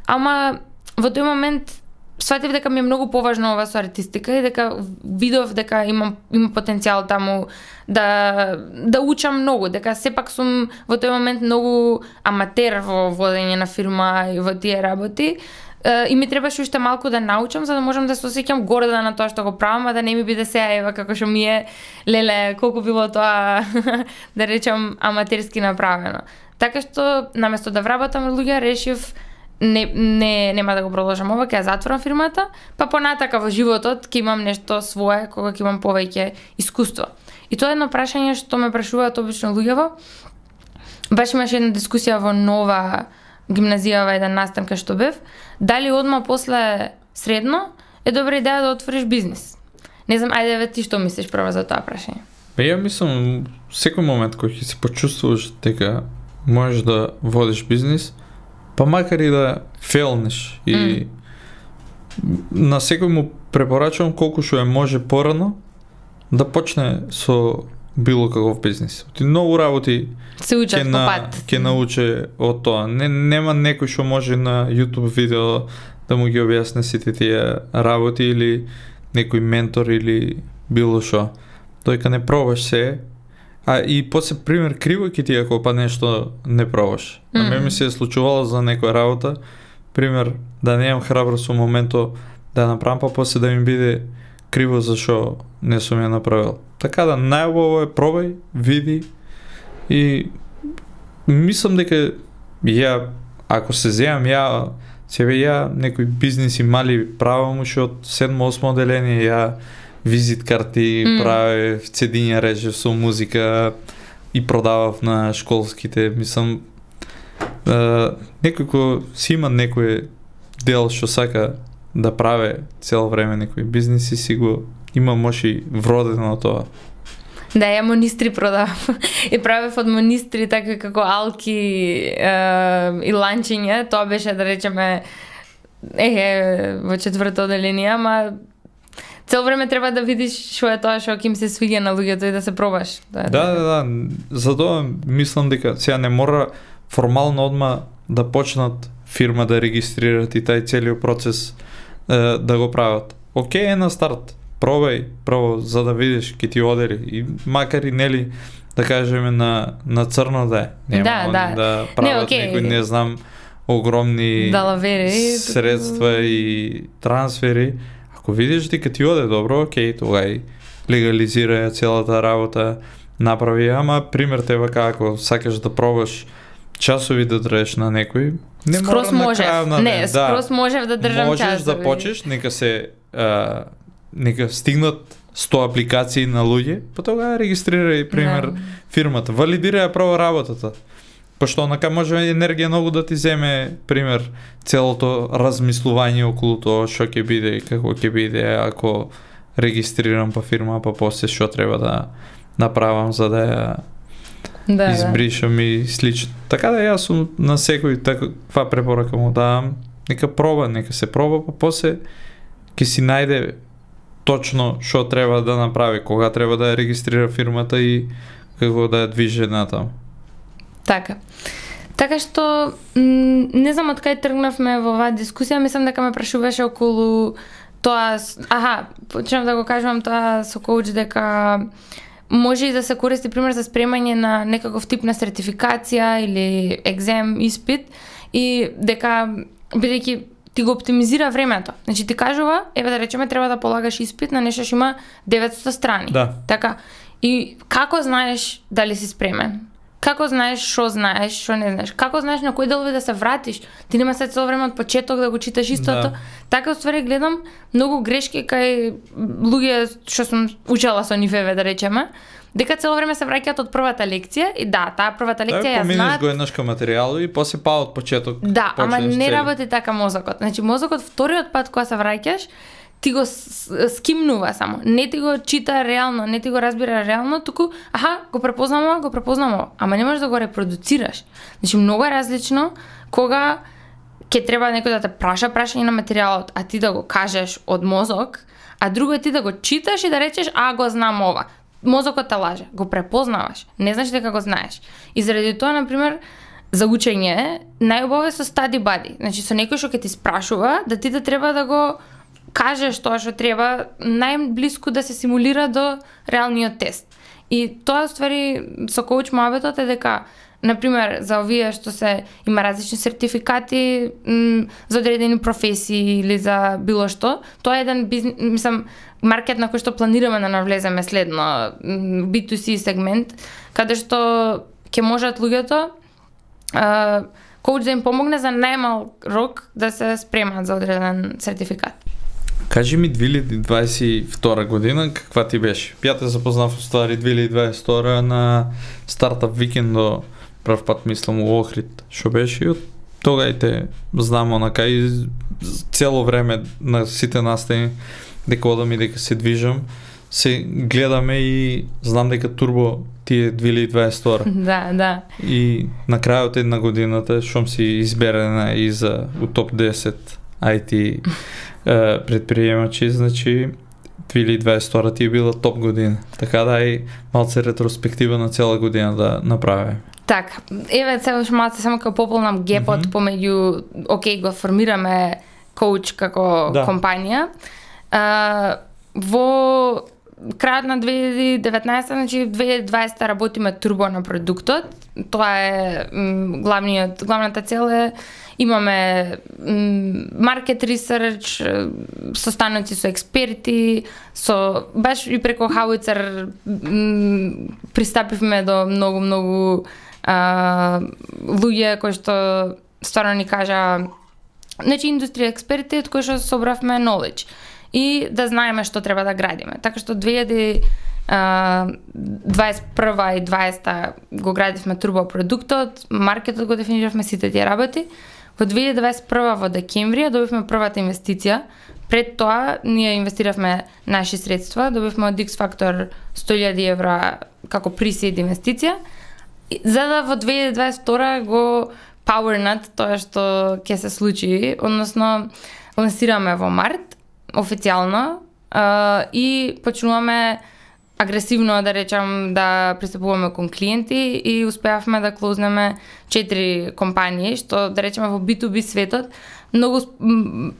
Ама во тој момент сватив дека ми е многу поважно ова со артистика и дека видов дека имам има потенцијал таму да да учам многу, дека сепак сум во тој момент многу аматер во водење на фирма и во тие работи. И ми требаше уште малку да научам за да можам да се осеќам горда на тоа што го правам, а да не ми биде сега ева како што ми е леле колку било тоа да речам аматерски направено. Така што наместо да вработам луѓе решив не не нема да го продолжам ова, ќе ја затворам фирмата, па понатака во животот ќе имам нешто свое кога ќе имам повеќе искуство. И тоа е едно прашање што ме прашуваат обично луѓево. Баш имаше една дискусија во Нова гимназија во еден настан кај што бев, дали одма после средно е добра идеја да отвориш бизнис. Не знам, ајде ве ти што мислиш прво за тоа прашање? Па ја мислам секој момент кој ќе се почувствуваш дека можеш да водиш бизнис, па макар и да фейлнеш и mm. на секој му препорачувам колку што е може порано да почне со било каков бизнис. Ти многу работи се учат по пат. Ќе научи од тоа. Не, нема некој што може на YouTube видео да му ги објасни сите тие работи или некој ментор или било што. Тој кога не пробаш се, а и после пример криво ќе ти ако па нешто не пробаш. Mm. На мене ми се е случувало за некоја работа, пример да немам храброст во моментот да направам, па после да ми биде криво зашо не сум ја направил. Така да најубаво е пробај, види и мислам дека ја ако се земам ја себе ја некои бизниси мали правам уште од седмо-осмо одделение, ја визит карти mm. правев, цедиња режев со музика и продавав на школските, мислам е, некој кој си има некој дел што сака да праве цело време некои бизниси, си го има може вродено тоа. Да, ја монистри продав. И правев од монистри така како алки е, и ланчиња, тоа беше да речеме е во четврто одделение, ама цел време треба да видиш што е тоа што ќе им се свиѓа на луѓето и да се пробаш. Да, да, да, да. Затоа мислам дека сега не мора формално одма да почнат фирма да регистрират и тај целиот процес е, да го прават. Океј е на старт. Пробај прво за да видиш ќе ти одели и макар и нели да кажеме на на црно да е. Нема да, да. да прават не, okay. некои не знам огромни далавери, средства и трансфери. Ако видиш дека ти оде добро, окей, тогај легализира целата работа, направи, ама пример тебе како сакаш да пробаш часови да држиш на некој, не скрос мора можев. на крај, не, да. скрос можев да држам можеш часови. Можеш да почнеш, нека се а, нека стигнат сто апликации на луѓе, па тогава регистрирај пример да. фирмата, валидирај право работата. Пошто онака може енергија многу да ти земе, пример, целото размислување околу тоа што ќе биде и како ќе биде ако регистрирам па фирма, па после што треба да направам за да ја да, избришам да. И слично. Така да јас сум на секој таква препорака му давам, нека проба, нека се проба, па после ќе си најде точно што треба да направи, кога треба да ја регистрира фирмата и како да ја движи натаму. Така. Така што не знам од кај тргнавме во оваа дискусија, мислам дека ме прашуваше околу тоа, аха, почнав да го кажувам тоа со коуч дека може и да се користи пример за спремање на некаков тип на сертификација или екзем, испит и дека бидејќи ти го оптимизира времето. Значи ти кажува, еве да речеме треба да полагаш испит на нешто што има деветсто страни. Да. Така. И како знаеш дали си спремен? Како знаеш што знаеш, што не знаеш? Како знаеш на кои делови да се вратиш? Ти нема се цело време од почеток да го читаш истото. Да. Така уствари гледам многу грешки кај луѓе што сум учела со нив, да речеме, дека цело време се враќаат од првата лекција и да, таа првата лекција ја знаат. Поминеш го еднаш кај материјалот и после па од почеток. Да, ама не цели. Работи така мозокот. Значи мозокот вториот пат кога се враќаш, ти го скимнува само. Не ти го чита реално, не ти го разбира реално, туку аха, го препознам ова, го препознам ова, ама не можеш да го репродуцираш. Значи многу е различно кога ќе треба некој да те праша прашање на материјалот, а ти да го кажеш од мозок, а друго е ти да го читаш и да речеш а го знам ова. Мозокот те лаже, го препознаваш, не знаеш дека го знаеш. И заради тоа, на пример, за учење најубаво е со study buddy. Значи со некој што ќе ти спрашува, да ти да треба да го кажеш тоа што треба најблиску да се симулира до реалниот тест. И тоа ствари со коуч моабетот е дека, например, за овие што се има различни сертификати м, за одредени професии или за било што, тоа е еден бизнес, мислам, маркет на кој што планираме да навлеземе следно, би ту си сегмент, каде што ќе можат луѓето а, коуч да им помогне за најмал рок да се спремат за одреден сертификат. Кажи ми две илјади дваесет и втора година, каква ти беше? Ја те запознав ствари две илјади дваесет и втора на стартап викендо, прв пат мислам у Охрид, што беше и од тога и те знам онака и цело време на сите настани дека одам и дека се движам, се гледаме и знам дека турбо ти е две илјади дваесет и втора. Да, да. И на крајот една годината шом си изберена и за у топ десет ај ти предприемачи, значи две илјади дваесет и втора ти е била топ година. Така да и малце ретроспектива на цела година да направи. Така, еве сега уште малце само како пополнам гепот mm-hmm. помеѓу, окей, го формираме коуч како да. компанија. А, во крајот на две илјади и деветнаесета, значи две илјади и дваесета работиме турбо на продуктот. Тоа е м, главниот, главната цел е имаме маркет ресерч, состаноци со експерти, со баш и преко Howitzer пристапивме до многу многу а, луѓе кои што стварно ни кажа, значи индустрија експерти од кои што собравме knowledge и да знаеме што треба да градиме. Така што две илјади дваесет и прва и дваесета го градивме турбо продуктот, маркетот го дефиниравме, сите тие работи. Во две илјади дваесет и прва во декември добивме првата инвестиција. Пред тоа ние инвестиравме наши средства, добивме од X Factor сто илјади евра како присид инвестиција, за да во две илјади дваесет и втора го powerнат тоа што ќе се случи, односно лансираме во март официјално и почнуваме агресивно, да речам, да пристапуваме кон клиенти и успеавме да клознеме четири компании, што, да речеме, во би ту би светот многу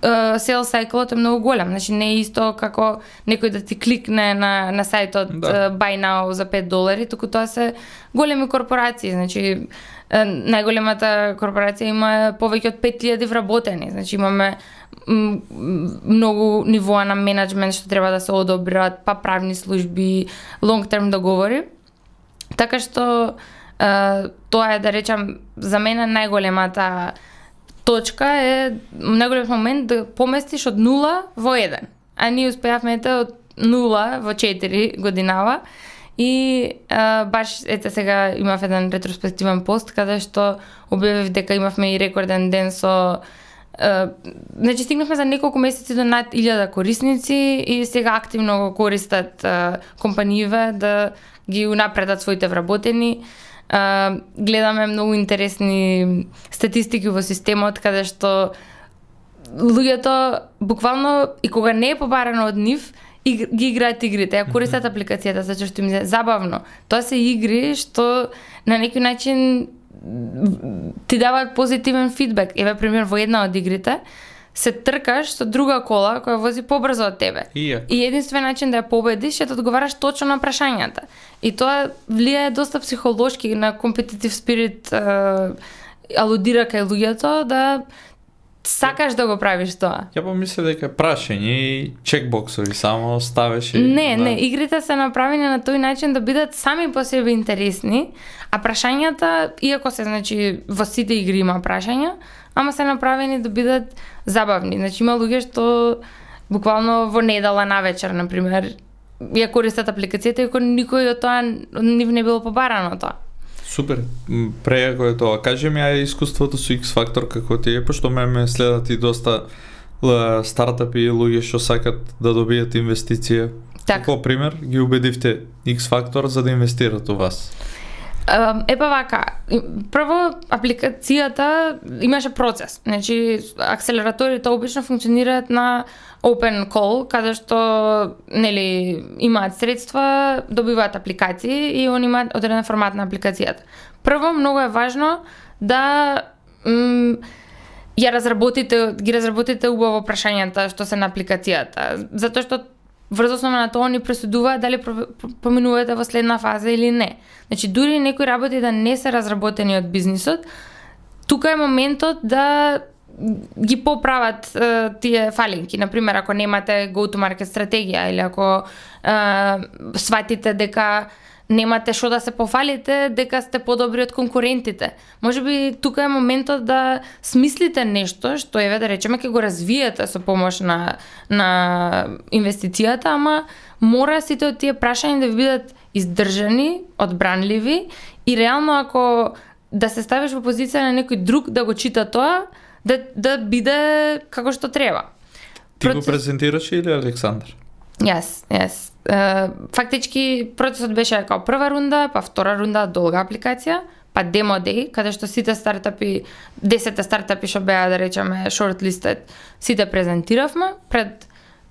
sales cycle е многу голем. Значи не е исто како некој да ти кликне на на сајтот да. Buy now за пет долари, туку тоа се големи корпорации. Значи најголемата корпорација има повеќе од пет илјади вработени. Значи имаме многу нивоа на менеджмент што треба да се одобрат, па правни служби, long term договори. Така што тоа е, да речам, за мене најголемата точка е најголемиот момент да поместиш од нула во еден. А ние успеавме од нула во четири годинава. И а, баш ете сега имав еден ретроспективен пост каде што објавив дека имавме и рекорден ден со а, значи стигнавме за неколку месеци до над илјада корисници и сега активно го користат а, компанииве да ги унапредат своите вработени. А, гледаме многу интересни статистики во системот каде што луѓето буквално и кога не е побарано од нив и ги играат игрите, ја користат апликацијата затоа што им е забавно. Тоа се игри што на некој начин ти даваат позитивен фидбек. Еве пример во една од игрите се тркаш со друга кола која вози побрзо од тебе. И, и единствен начин да ја победиш е да одговараш точно на прашањата. И тоа влијае доста психолошки на компетитив спирит, алудира кај луѓето да сакаш да го правиш тоа. Ја помисля дека е прашање и чекбоксови само ставиш и... Не, да. не, игрите се направени на тој начин да бидат сами по себе интересни, а прашањата, иако се, значи, во сите игри има прашања, ама се направени да бидат забавни. Значи, има луѓе што буквално во недела навечер, например, ја користат апликацијата, иако никој од тоа нив не било побарано тоа. Супер, прејако е тоа. Кажи ми ај искуството со X-Factor како ти е, пошто ме ме следат и доста л, стартапи и луѓе што сакат да добијат инвестиција. Так. Како пример ги убедивте X-Factor за да инвестират у вас? Епа вака, прво апликацијата имаше процес. Значи, акселераторите обично функционираат на open call, каде што, нели, имаат средства, добиваат апликации и они имаат одреден формат на апликацијата. Прво, многу е важно да м, ја разработите, ги разработите убаво прашањата што се на апликацијата, затоа што врз основа на тоа ни пресудуваат дали поминувате во следна фаза или не. Значи, дури некои работи да не се разработени од бизнисот, тука е моментот да ги поправат е, тие фалинки. Например, ако немате go-to-market стратегија или ако е, сватите дека немате што да се пофалите, дека сте подобри од конкурентите. Можеби тука е моментот да смислите нешто што еве да речеме ќе го развиете со помош на на инвестицијата, ама мора сите од тие прашања да ви бидат издржани, одбранливи и реално ако да се ставиш во позиција на некој друг да го чита тоа, да да биде како што треба. Ти Процес... го презентираш или Александар? Јас, јас. Uh, фактички процесот беше како прва рунда, па втора рунда долга апликација, па демо дей, каде што сите стартапи, десет стартапи што беа да речеме shortlisted, сите презентиравме пред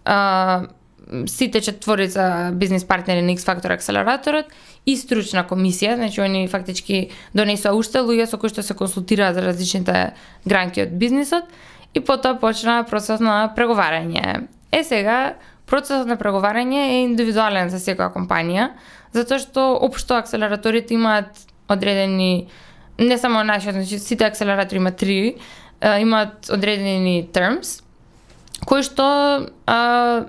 uh, сите четворица бизнис партнери на X-Factor акселераторот и стручна комисија, значи они фактички донесоа уште луѓе со кои што се консултираат за различните гранки од бизнисот и потоа почна процесот на преговарање. Е сега процесот на преговарање е индивидуален за секоја компанија, затоа што општо акселераторите имаат одредени, не само нашиот, значи сите акселератори имаат три, имаат одредени terms, кои што, а,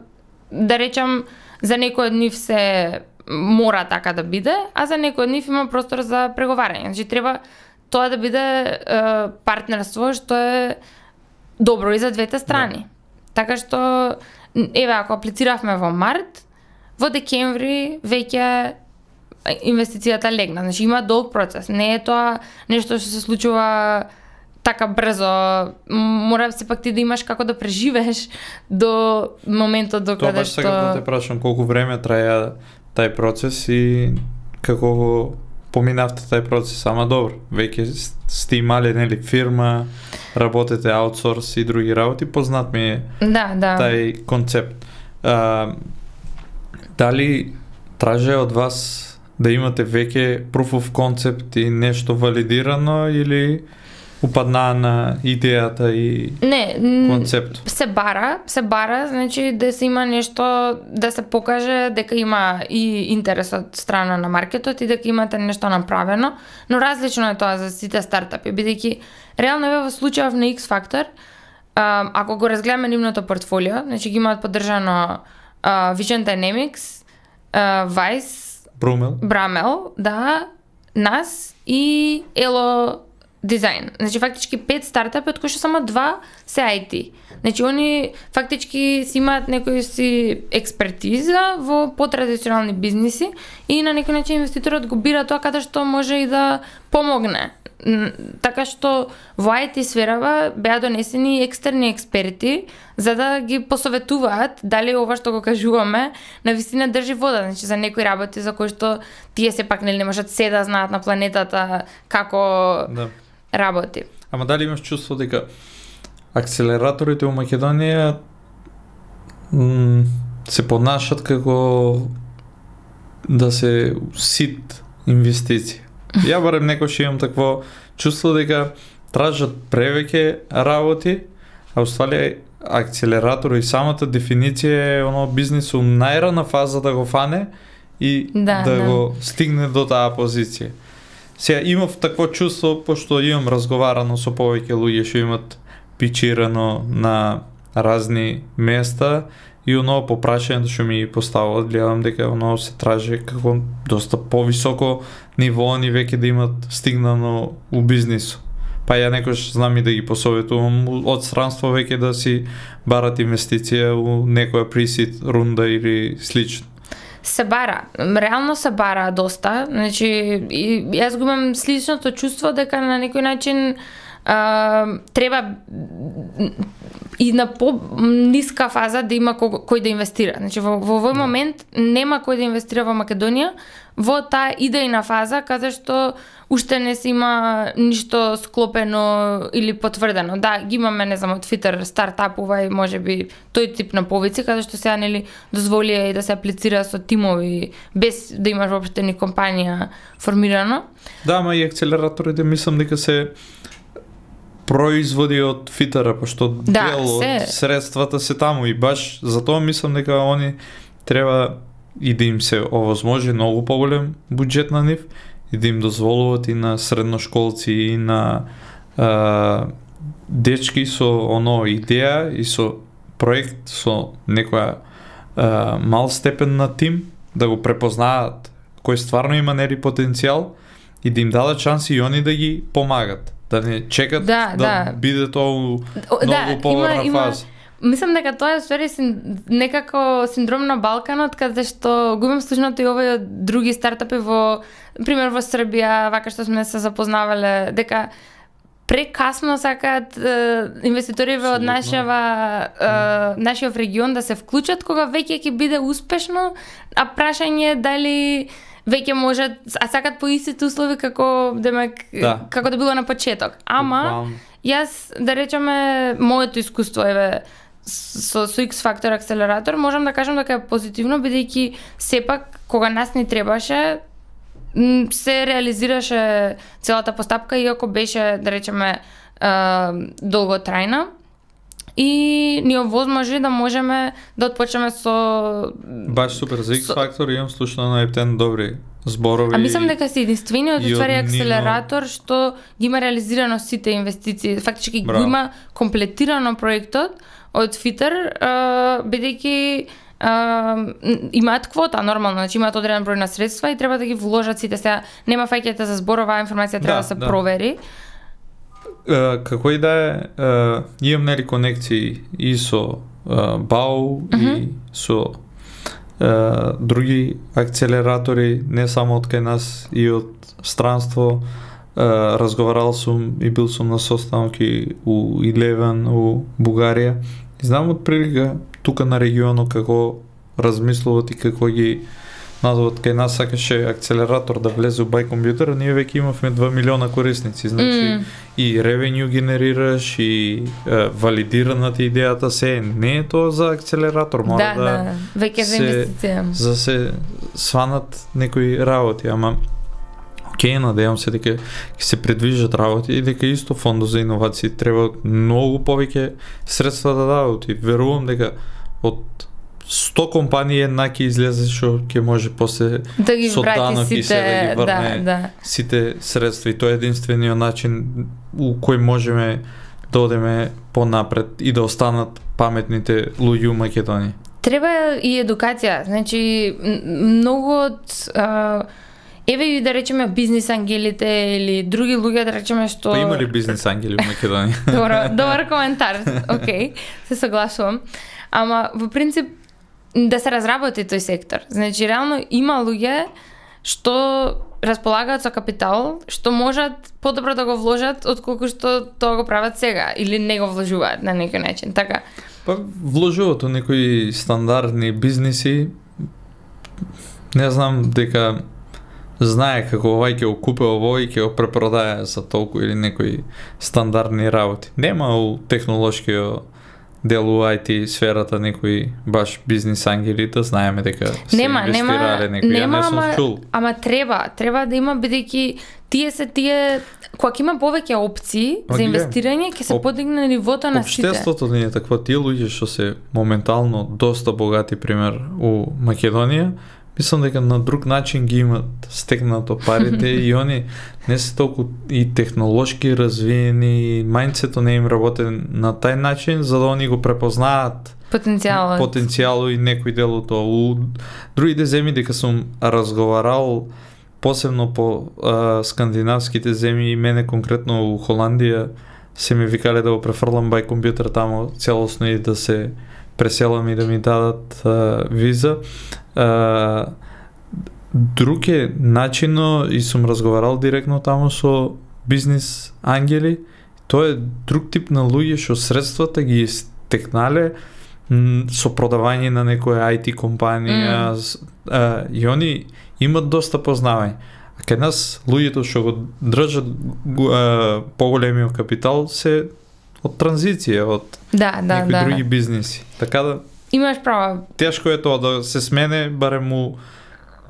да речам, за некој од нив се мора така да биде, а за некој од нив има простор за преговарање. Значи треба тоа да биде а, партнерство што е добро и за двете страни. Да. Така што еве, ако аплициравме во март, во декември веќе инвестицијата легна. Значи има долг процес. Не е тоа нешто што се случува така брзо. Мора сепак ти да имаш како да преживееш до моментот до каде што... Тоа баш сега да те прашам колку време траја тај процес и како го поминавте тај процес, ама добро, веќе сте имале нели фирма, работите аутсорс и други работи, познат ми е да, да. тај концепт. А, дали траже од вас да имате веќе proof of concept и нешто валидирано или упаднаа на идејата и не, концепт? Се бара, се бара, значи да се има нешто, да се покаже дека има и интерес од страна на маркетот и дека имате нешто направено, но различно е тоа за сите стартапи, бидејќи реално е во случајов на X-Factor, ако го разгледаме нивното портфолио, значи ги имаат поддржано uh, Vision Dynamics, uh, Vice, Брумел, Брамел, да, нас и Elo Design. Значи фактички пет стартапи, од кои што само два се ай ти. Значи они фактички си имаат некој си експертиза во потрадиционални бизниси и на некој начин инвеститорот го бира тоа каде што може и да помогне. Така што во ай ти сферава беа донесени екстерни експерти за да ги посоветуваат дали ова што го кажуваме на вистина држи вода, значи за некои работи за кои што тие сепак нели не можат се да знаат на планетата како да работи. Ама дали имаш чувство дека акселераторите во Македонија м, се понашат како да се сит инвестиција? Ја барем некош имам такво чувство дека тражат превеќе работи, а уствали акселератор и самата дефиниција е оно бизнис у најрана фаза да го фане и да, да, да го стигне до таа позиција. Сега имав такво чувство, пошто имам разговарано со повеќе луѓе што имат пичирано на разни места и оно по прашањето што ми поставуват, гледам дека оно се тражи како доста повисоко ниво они веќе да имат стигнано у бизнису. Па ја некош знам и да ги посоветувам од странство веќе да си барат инвестиција у некоја присид рунда или слично. Се бара, реално се бара доста, значи и, јас го имам сличното чувство дека на некој начин а, треба и на по-ниска фаза да има кој, кој да инвестира. Значи во, во овој момент нема кој да инвестира во Македонија во таа идејна фаза каде што уште не се има ништо склопено или потврдено. Да, ги имаме, не знам, од Фитер стартапува и можеби тој тип на повици каде што сега нели дозволија и да се аплицира со тимови без да имаш воопште ни компанија формирано. Да, ама и акцелераторите мислам дека се производи од Фитера, пошто да, дел од се... средствата се таму и баш затоа мислам дека они треба и да им се овозможи многу поголем буџет на нив и да им дозволуваат и на средношколци и на а, дечки со оно идеја и со проект со некоја а, мал степен на тим да го препознаат кој стварно има нели потенцијал и да им дадат шанси и они да ги помагат. Да не чекат да, да, да. биде тоа многу да, поврна има, фаза. Има, мислам дека тоа е ствари син, некако синдром на Балканот, каде што го имам слушнато и овој од други стартапи во, пример во Србија, вака што сме се запознавале, дека прекасно сакаат е, инвеститориве од нашава е, нашиот регион да се вклучат кога веќе ќе биде успешно, а прашање е дали веќе можат, а сакат по истите услови како демек да. како да било на почеток. Ама јас да речеме моето искуство еве со, со X Factor акселератор можам да кажам дека е позитивно бидејќи сепак кога нас ни требаше се реализираше целата постапка иако беше да речеме долготрајна и ни овозможи да можеме да отпочнеме со баш супер за X Factor имам слушано на Ептен добри зборови. А мислам дека си единствениот уствари Нино... акселератор што ги има реализирано сите инвестиции. Фактички Браво. го има комплетирано проектот од Фитер, бидејќи имаат квота нормално, значи имаат одреден број на средства и треба да ги вложат сите. Сега нема фаќате за зборова информација треба да, да се да. провери. Uh, како и да е, uh, имам нели конекции и со uh, БАУ mm-hmm. и со uh, други акцелератори, не само од кај нас и од странство. Uh, разговарал сум и бил сум на состаноки у Илевен, у Бугарија. И знам од прилика тука на регионот како размислуват и како ги назоват. Кај нас сакаше акцелератор да влезе у Бај компјутер, ние веќе имавме два милиона корисници, значи mm. и ревенју генерираш и е, валидираната идејата се, не е тоа за акцелератор, мора да, да, да. веќе за инвестиција. За се сванат некои работи, ама окей, надевам се дека ќе се предвижат работи и дека исто фондот за иновации треба многу повеќе средства да дадат и верувам дека од сто компании една ќе излезе што ќе може после да ги со данок сите, и се да ги врне да, да. сите средства и тоа е единствениот начин у кој можеме да одеме понапред и да останат паметните луѓе у Македонија. Треба и едукација, значи многу од а, еве и да речеме бизнис ангелите или други луѓе да речеме што Па има ли бизнис ангели у Македонија? Добро, добар коментар. Океј, се согласувам. Ама во принцип да се разработи тој сектор. Значи реално има луѓе што располагаат со капитал, што можат подобро да го вложат отколку што тоа го прават сега или не го вложуваат на некој начин. Така. Па вложуваат у некои стандардни бизниси. Не знам дека знае како овај ќе го купе овој и ќе го препродае за толку или некои стандардни работи. Нема у технолошкиот дел у ай ти сферата некои баш бизнис ангели да знаеме дека се нема, инвестирале нема, некои, нема, ја не сум ама, чул. Ама треба, треба да има бидејќи тие се тие кога има повеќе опции Ма за гледам, инвестирање ќе се об- подигне нивото на сите. Општеството не е такво, тие луѓе што се моментално доста богати пример у Македонија, мислам дека на друг начин ги имат стекнато парите и они не се толку и технолошки развиени, мајндсето не им работи на тај начин, за да они го препознаат потенцијалот. Потенцијало и некој дел од тоа. У другите земји дека сум разговарал посебно по а, скандинавските земји и мене конкретно у Холандија се ми викале да го префрлам бај компјутер таму целосно и да се преселам и да ми дадат а, виза. А, друг е начино и сум разговарал директно таму со бизнис ангели. Тоа е друг тип на луѓе што средствата ги стекнале со продавање на некоја ај ти компанија mm. а, и они имат доста познавање. А кај нас луѓето што го држат а, поголемиот капитал се од транзиција, од да, да, некои да. други бизниси. Така да имаш право. Тешко е тоа да се смене барем у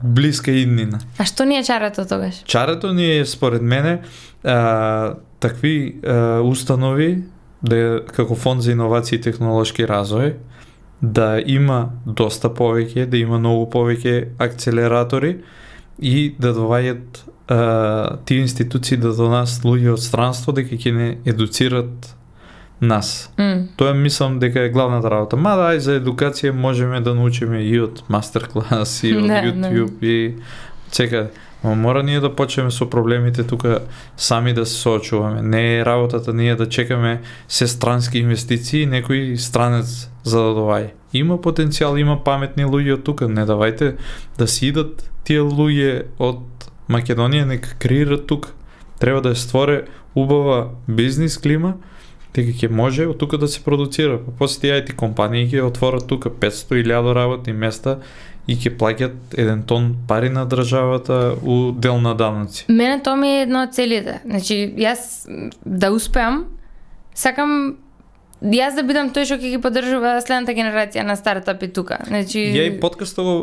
блиска иднина. А што ни е чарето тогаш? Чарето ни е според мене а, такви а, установи да како фонд за иновации и технолошки развој да има доста повеќе, да има многу повеќе акцелератори и да доваѓат а, тие институции да до нас луѓе од странство дека ќе не едуцират нас. Mm. Тоа мислам дека е главната работа. Мада ај за едукација можеме да научиме и од мастер-клас, и од Не, YouTube, и секаде. Но мора ние да почнеме со проблемите тука сами да се соочуваме. Не е работата ние да чекаме се странски инвестиции, некој странец за да доваѓа. Има потенцијал, има паметни луѓе од тука. Не давајте да си идат тие луѓе од Македонија, нека креират тука. Треба да е створе убава бизнис клима, дека ќе може од тука да се продуцира. Па после тие ај ти компании ќе отворат тука петсто илјади работни места и ќе плаќат еден тон пари на државата у дел на даноци. Мене тоа ми е едно од целите. Значи, јас да успеам, сакам јас да бидам тој што ќе ги поддржува следната генерација на стартапи тука. Значи, ја и подкастот го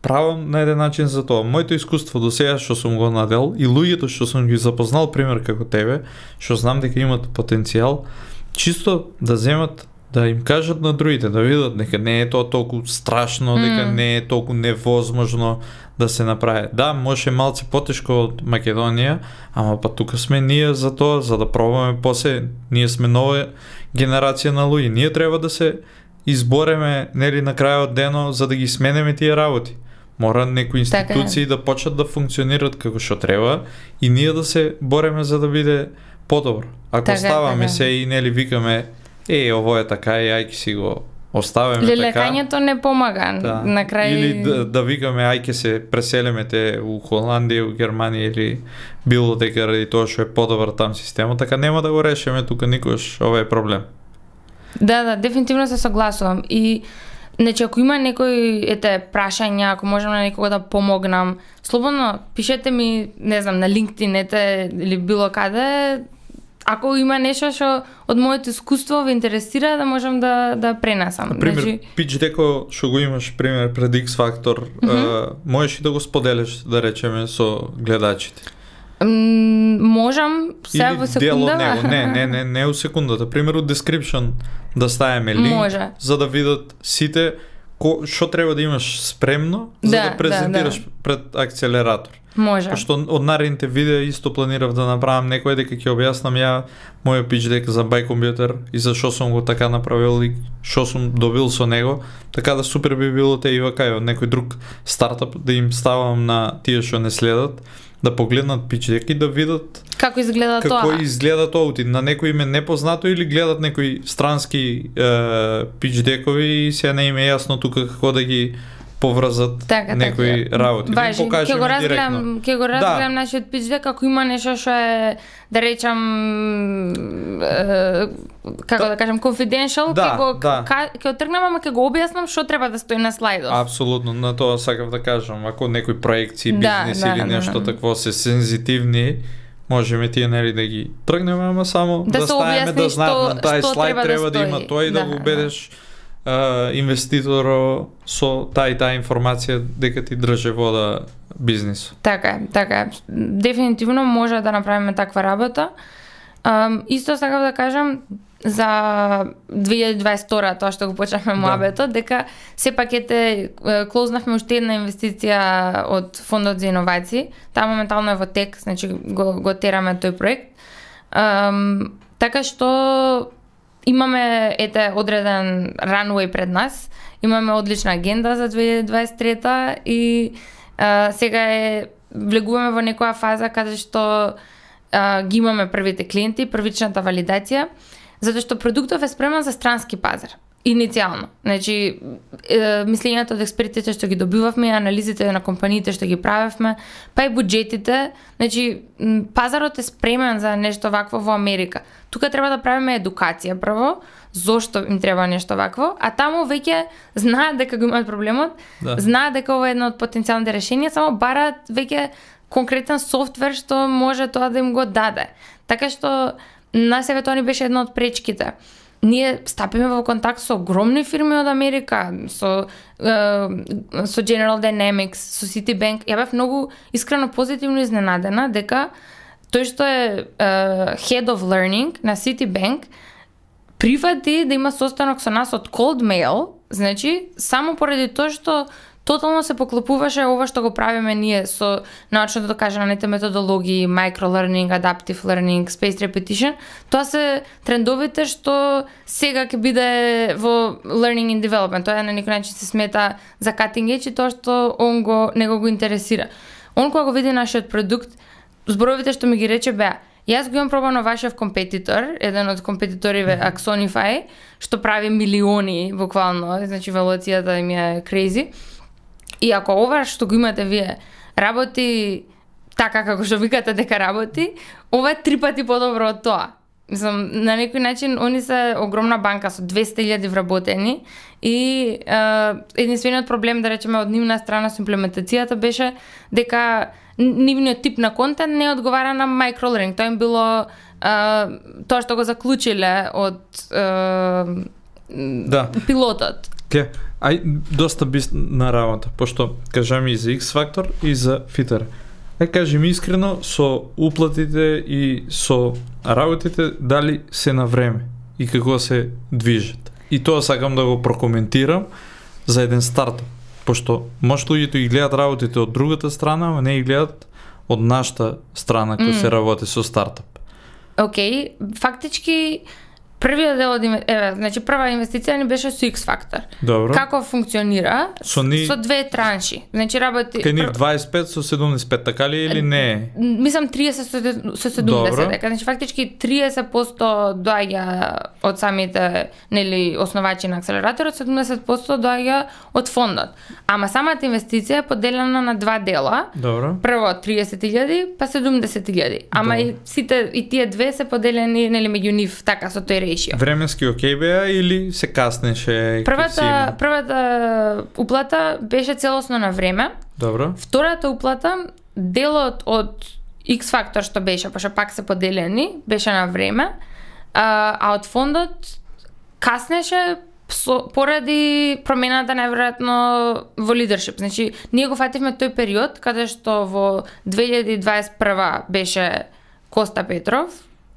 правам на еден начин за тоа. Моето искуство до сега што сум го надел и луѓето што сум ги запознал, пример како тебе, што знам дека имат потенцијал, чисто да земат, да им кажат на другите, да видат дека не е тоа толку страшно, mm. дека не е толку невозможно да се направи. Да, може малце потешко од Македонија, ама па тука сме ние за тоа, за да пробаме после, ние сме нова генерација на луѓе. Ние треба да се избореме, нели, на крајот дено за да ги сменеме тие работи. Мора некои институции така да почнат да функционират како што треба и ние да се бореме за да биде подобро. Ако така, ставаме така. Се и нели викаме е, ово е така и ај ќе си го оставиме така. Лелекањето не помага да. На крај. Или да, да викаме ај ќе се преселиме те у Холандија, у Германија или било дека ради тоа што е подобар там системот, така нема да го решиме тука никош овој проблем. Да, да, дефинитивно се согласувам и значи ако има некои ете прашања, ако можам на некого да помогнам, слободно пишете ми, не знам, на LinkedIn ете или било каде. Ако има нешто што од моето искуство ве интересира, да можам да да пренесам. Например, значи... пич деко што го имаш пример пред X Factor, mm-hmm. а, можеш и да го споделиш, да речеме, со гледачите. М, можам сега во секунда. Него. Не, не, не, не у секундата. Пример од description да ставиме линк, може. За да видат сите што треба да имаш спремно за да, да презентираш да, да. Пред акцелератор. Може. Пошто од наредните видеа исто планирав да направам некој дека ќе објаснам ја мојот пич дека за бај компјутер и за што сум го така направил и што сум добил со него, така да супер би било те и вака некој друг стартап да им ставам на тие што не следат, да погледнат пич дека и да видат како изгледа како тоа. Како изгледа тоа, на некој име непознато или гледат некои странски е, пич декови и се не им е јасно тука како да ги поврзат така, некои така. Работи. Важи, да ќе го разгледам, ќе го разгледам да. Нашиот пич дека ако има нешто што е да речам е, како да, да кажам confidential, да, ќе го да. ќе отргнам, ама ќе го објаснам што треба да стои на слайдот. Апсолутно, на тоа сакав да кажам, ако некои проекции, да, бизнес да, или нешто да, да. Такво се сензитивни, можеме тие нели да ги тргнеме, ама само да, да ставиме да знаат на тај слайд треба, треба да, да има тој и да, да го убедиш Uh, инвеститоро со тај таа информација дека ти држи вода бизнис. Така, така. Дефинитивно може да направиме таква работа. Um, исто сакав да кажам, за две илјади и дваесет и втора, тоа што го почнавме муабетот, дека сепак ете клознавме уште една инвестиција од фондот за иновации. Таа моментално е во тек, значи го, го тераме тој проект. Um, така што имаме ете одреден runway пред нас, имаме одлична агенда за две илјади и дваесет и трета и uh, сега е влегуваме во некоја фаза каде што uh, ги имаме првите клиенти, првичната валидација, затоа што продуктов е спремен за странски пазар. Иницијално. Значи, е, мислењето од експертите што ги добивавме, анализите на компаниите што ги правевме, па и буџетите, значи, пазарот е спремен за нешто вакво во Америка. Тука треба да правиме едукација прво, зошто им треба нешто вакво, а таму веќе знаат дека го имаат проблемот, да. Знаат дека ова е едно од потенцијалните решенија, само бараат веќе конкретен софтвер што може тоа да им го даде. Така што на себе тоа ни беше една од пречките. Ние стапиме во контакт со огромни фирми од Америка, со, uh, со General Dynamics, со Citibank. Ја бев многу искрено позитивно изненадена дека тој што е uh, Head of Learning на Citibank прифати да има состанок со нас од cold mail, значи само поради тоа што тотално се поклопуваше ова што го правиме ние со научно докажаните методологии, microlearning, adaptive learning, spaced repetition. Тоа се трендовите што сега ќе биде во learning and development. Тоа на некој начин се смета за cutting edge и тоа што он го него го интересира. Он кога го види нашиот продукт, зборовите што ми ги рече беа: јас го имам пробано вашев компетитор, еден од компетиториве Axonify, што прави милиони буквално, значи валуацијата им е crazy. И ако ова што го имате вие работи така како што викате дека работи, ова е три пати подобро од тоа. Мислам, на некој начин они се огромна банка со двесте илјади вработени и е, единствениот проблем, да речеме, од нивна страна со имплементацијата беше дека нивниот тип на контент не одговара на microlearning. Тоа им било е, тоа што го заклучиле од е, да. пилотот. Ке, ај доста бисна работа, пошто кажа ми и за X-Factor и за Fitter. Ај кажи ми искрено, со уплатите и со работите, дали се на време и како се движат. И тоа сакам да го прокоментирам за еден стартап, пошто може луѓето ги гледат работите од другата страна, а не ги гледат од нашата страна кој mm. се работи со стартап. Океј, okay. Фактички првиот дел од еве, значи прва инвестиција ни беше со X-Factor. Добро. Како функционира? Со, ни... со две транши. Значи работи кај нив дваесет и пет со седумдесет и пет, така ли или не? Мислам триесет со седумдесет, дека значи фактички триесет проценти доаѓа од самите нели основачи на акселераторот, седумдесет проценти доаѓа од фондот. Ама самата инвестиција е поделена на два дела. Добро. Прво триесет илјади, па седумдесет илјади. Ама Добро. и сите и тие две се поделени нели меѓу нив така со тој решио. Временски окей беа или се каснеше? Првата првата уплата беше целосно на време. Добро. Втората уплата, делот од X-Factor што беше, пошто пак се поделени, беше на време, а, а од фондот каснеше со, поради промената најверојатно во лидершип. Значи, ние го фативме тој период каде што во две илјади и дваесет и прва беше Коста Петров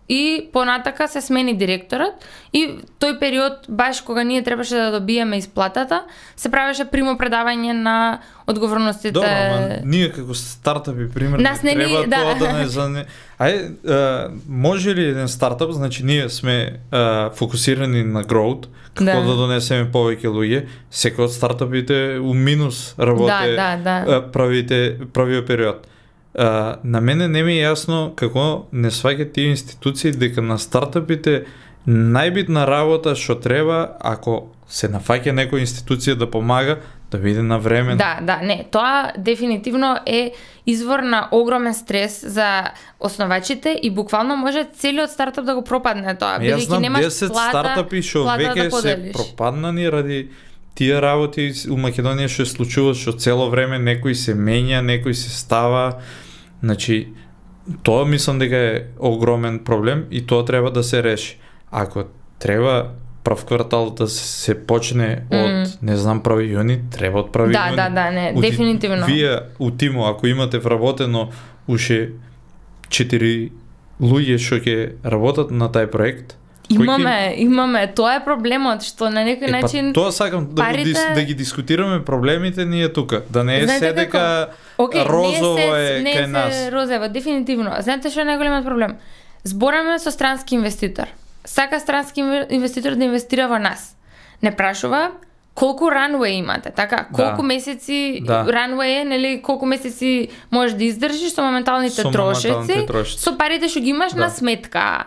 и понатака се смени директорот и тој период баш кога ние требаше да добиеме исплатата, се правеше примо предавање на одговорностите. Добро, ама ние како стартапи примерно Нас не треба ни, да. тоа да не за Ај, а, може ли еден стартап, значи ние сме а, фокусирани на growth, како да. да донесеме повеќе луѓе, секој од стартапите у минус работи да, да, да. правите правиот период. Uh, на мене не ми е јасно како не сваќаат тие институции дека на стартапите најбитна работа што треба, ако се нафаќа некоја институција да помага, да биде на време. Да, да, не, тоа дефинитивно е извор на огромен стрес за основачите и буквално може целиот стартап да го пропадне тоа, бидејќи немаш десет плата, стартапи што веќе да се пропаднани ради тие работи у Македонија што се случува, што цело време некој се менја, некој се става. Значи, тоа мислам дека е огромен проблем и тоа треба да се реши. Ако треба прв квартал да се почне од, mm. не знам, прави јуни, треба од прави да, јуни. Да, да, не, у, дефинитивно. Вие у тимо, ако имате вработено уште четири луѓе што ќе работат на тај проект, Имаме, имаме, тоа е проблемот, што на некој е, начин па, тоа сакам да, парите... дис, да ги дискутираме проблемите ние тука, да не е Знаете се дека okay, розово не е, не кај е нас. се розово, дефинитивно. Знаете што е најголемиот проблем? Збораме со странски инвеститор. Сака странски инвеститор да инвестира во нас. Не прашува колку runway имате, така? Колку Да. месеци Да. runway е, нели, колку месеци можеш да издржиш со моменталните Со трошоци, моменталните трошоци. со парите што ги имаш Да. на сметка.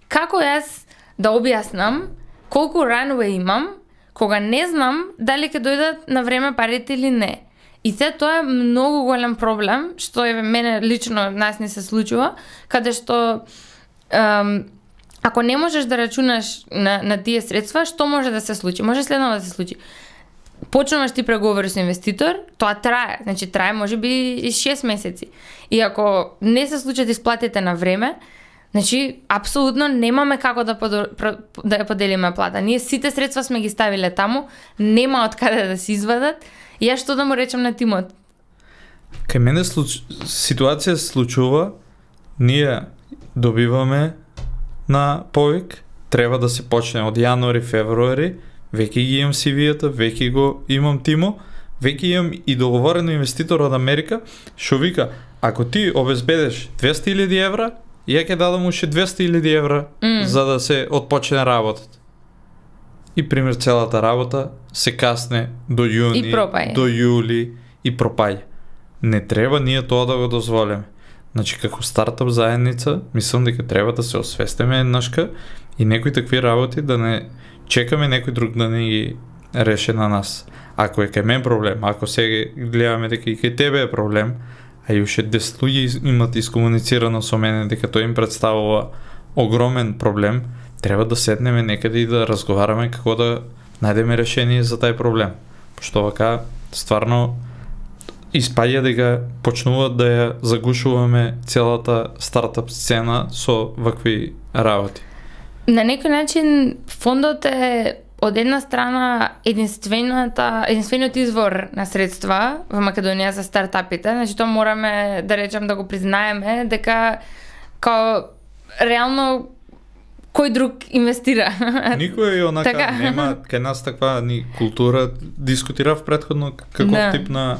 Како јас да објаснам колку runway имам, кога не знам дали ќе дојдат на време парите или не. И се тоа е многу голем проблем, што е мене лично нас не се случува, каде што ем, ако не можеш да рачунаш на, на тие средства, што може да се случи? Може следно да се случи. Почнуваш ти преговори со инвеститор, тоа трае, значи трае можеби и шест месеци. И ако не се случат исплатите на време, значи апсолутно немаме како да подор, да ја поделиме плата. Ние сите средства сме ги ставиле таму, нема од каде да се извадат. И ја што да му речам на тимот? Кај мене случ... ситуација се случува, ние добиваме на повик, треба да се почне од јануари, февруари, веќе ги имам си ви-ата, веќе го имам тимо, веќе имам и договорено инвеститор од Америка, што вика, ако ти обезбедеш двесте илјади евра, ја ќе дадам уште двесте илјади евра Mm. за да се отпочне работата. И пример целата работа се касне до јуни, И пропаѓа. до јули и пропаѓа. Не треба ние тоа да го дозволиме. Значи, како стартап заедница, мислам дека треба да се освестиме еднашка и некои такви работи да не чекаме некој друг да не ги реше на нас. Ако е кај мен проблем, ако сега гледаме дека и кај тебе е проблем, а и уште десет луѓе имат искомуницирано со мене дека тој им представува огромен проблем, треба да седнеме некаде и да разговараме како да најдеме решение за тај проблем. Пошто вака стварно испаѓа дека почнуваат да ја загушуваме целата стартап сцена со вакви работи. На некој начин фондот е од една страна единствената единствениот извор на средства во Македонија за стартапите, значи тоа мораме да речем да го признаеме дека као реално кој друг инвестира. Никој е онака Така. нема кај нас таква ни култура, дискутирав претходно каков Да. тип на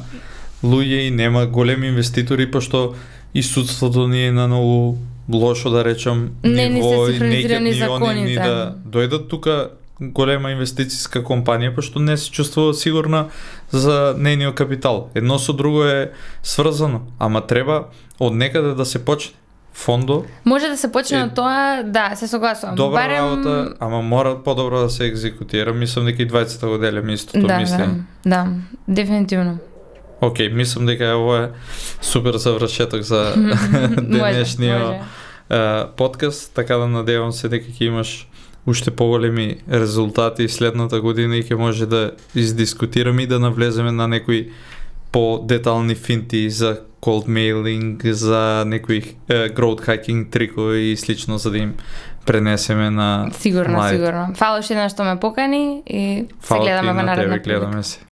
луѓе и нема големи инвеститори, пошто и судството ни е на многу лошо, да речем, Не ни се ниво и синхронизирани неќе ни они ни законите. да дојдат тука голема инвестициска компанија, пошто не се чувствува сигурна за нејниот капитал. Едно со друго е сврзано, ама треба од некаде да се почне. Фондо Може да се почне Е, од тоа, да, се согласувам. добра Барем... работа, ама мора подобро да се екзекутира. Мислам дека и двајцата го делиме истото Да, мислење. да, да, дефинитивно. Океј, мислам дека ово е супер завршеток за денешниот може. е, подкаст, така да надевам се дека ќе имаш уште поголеми резултати следната година и ќе може да издискутираме и да навлеземе на некои по-детални финти за cold mailing, за некои е, growth hacking трикови и слично, за да им пренесеме на Сигурно, младите. сигурно. Фала уште еднаш што ме покани и се Фала ти гледаме во на наредна тебе, прилика. гледаме се.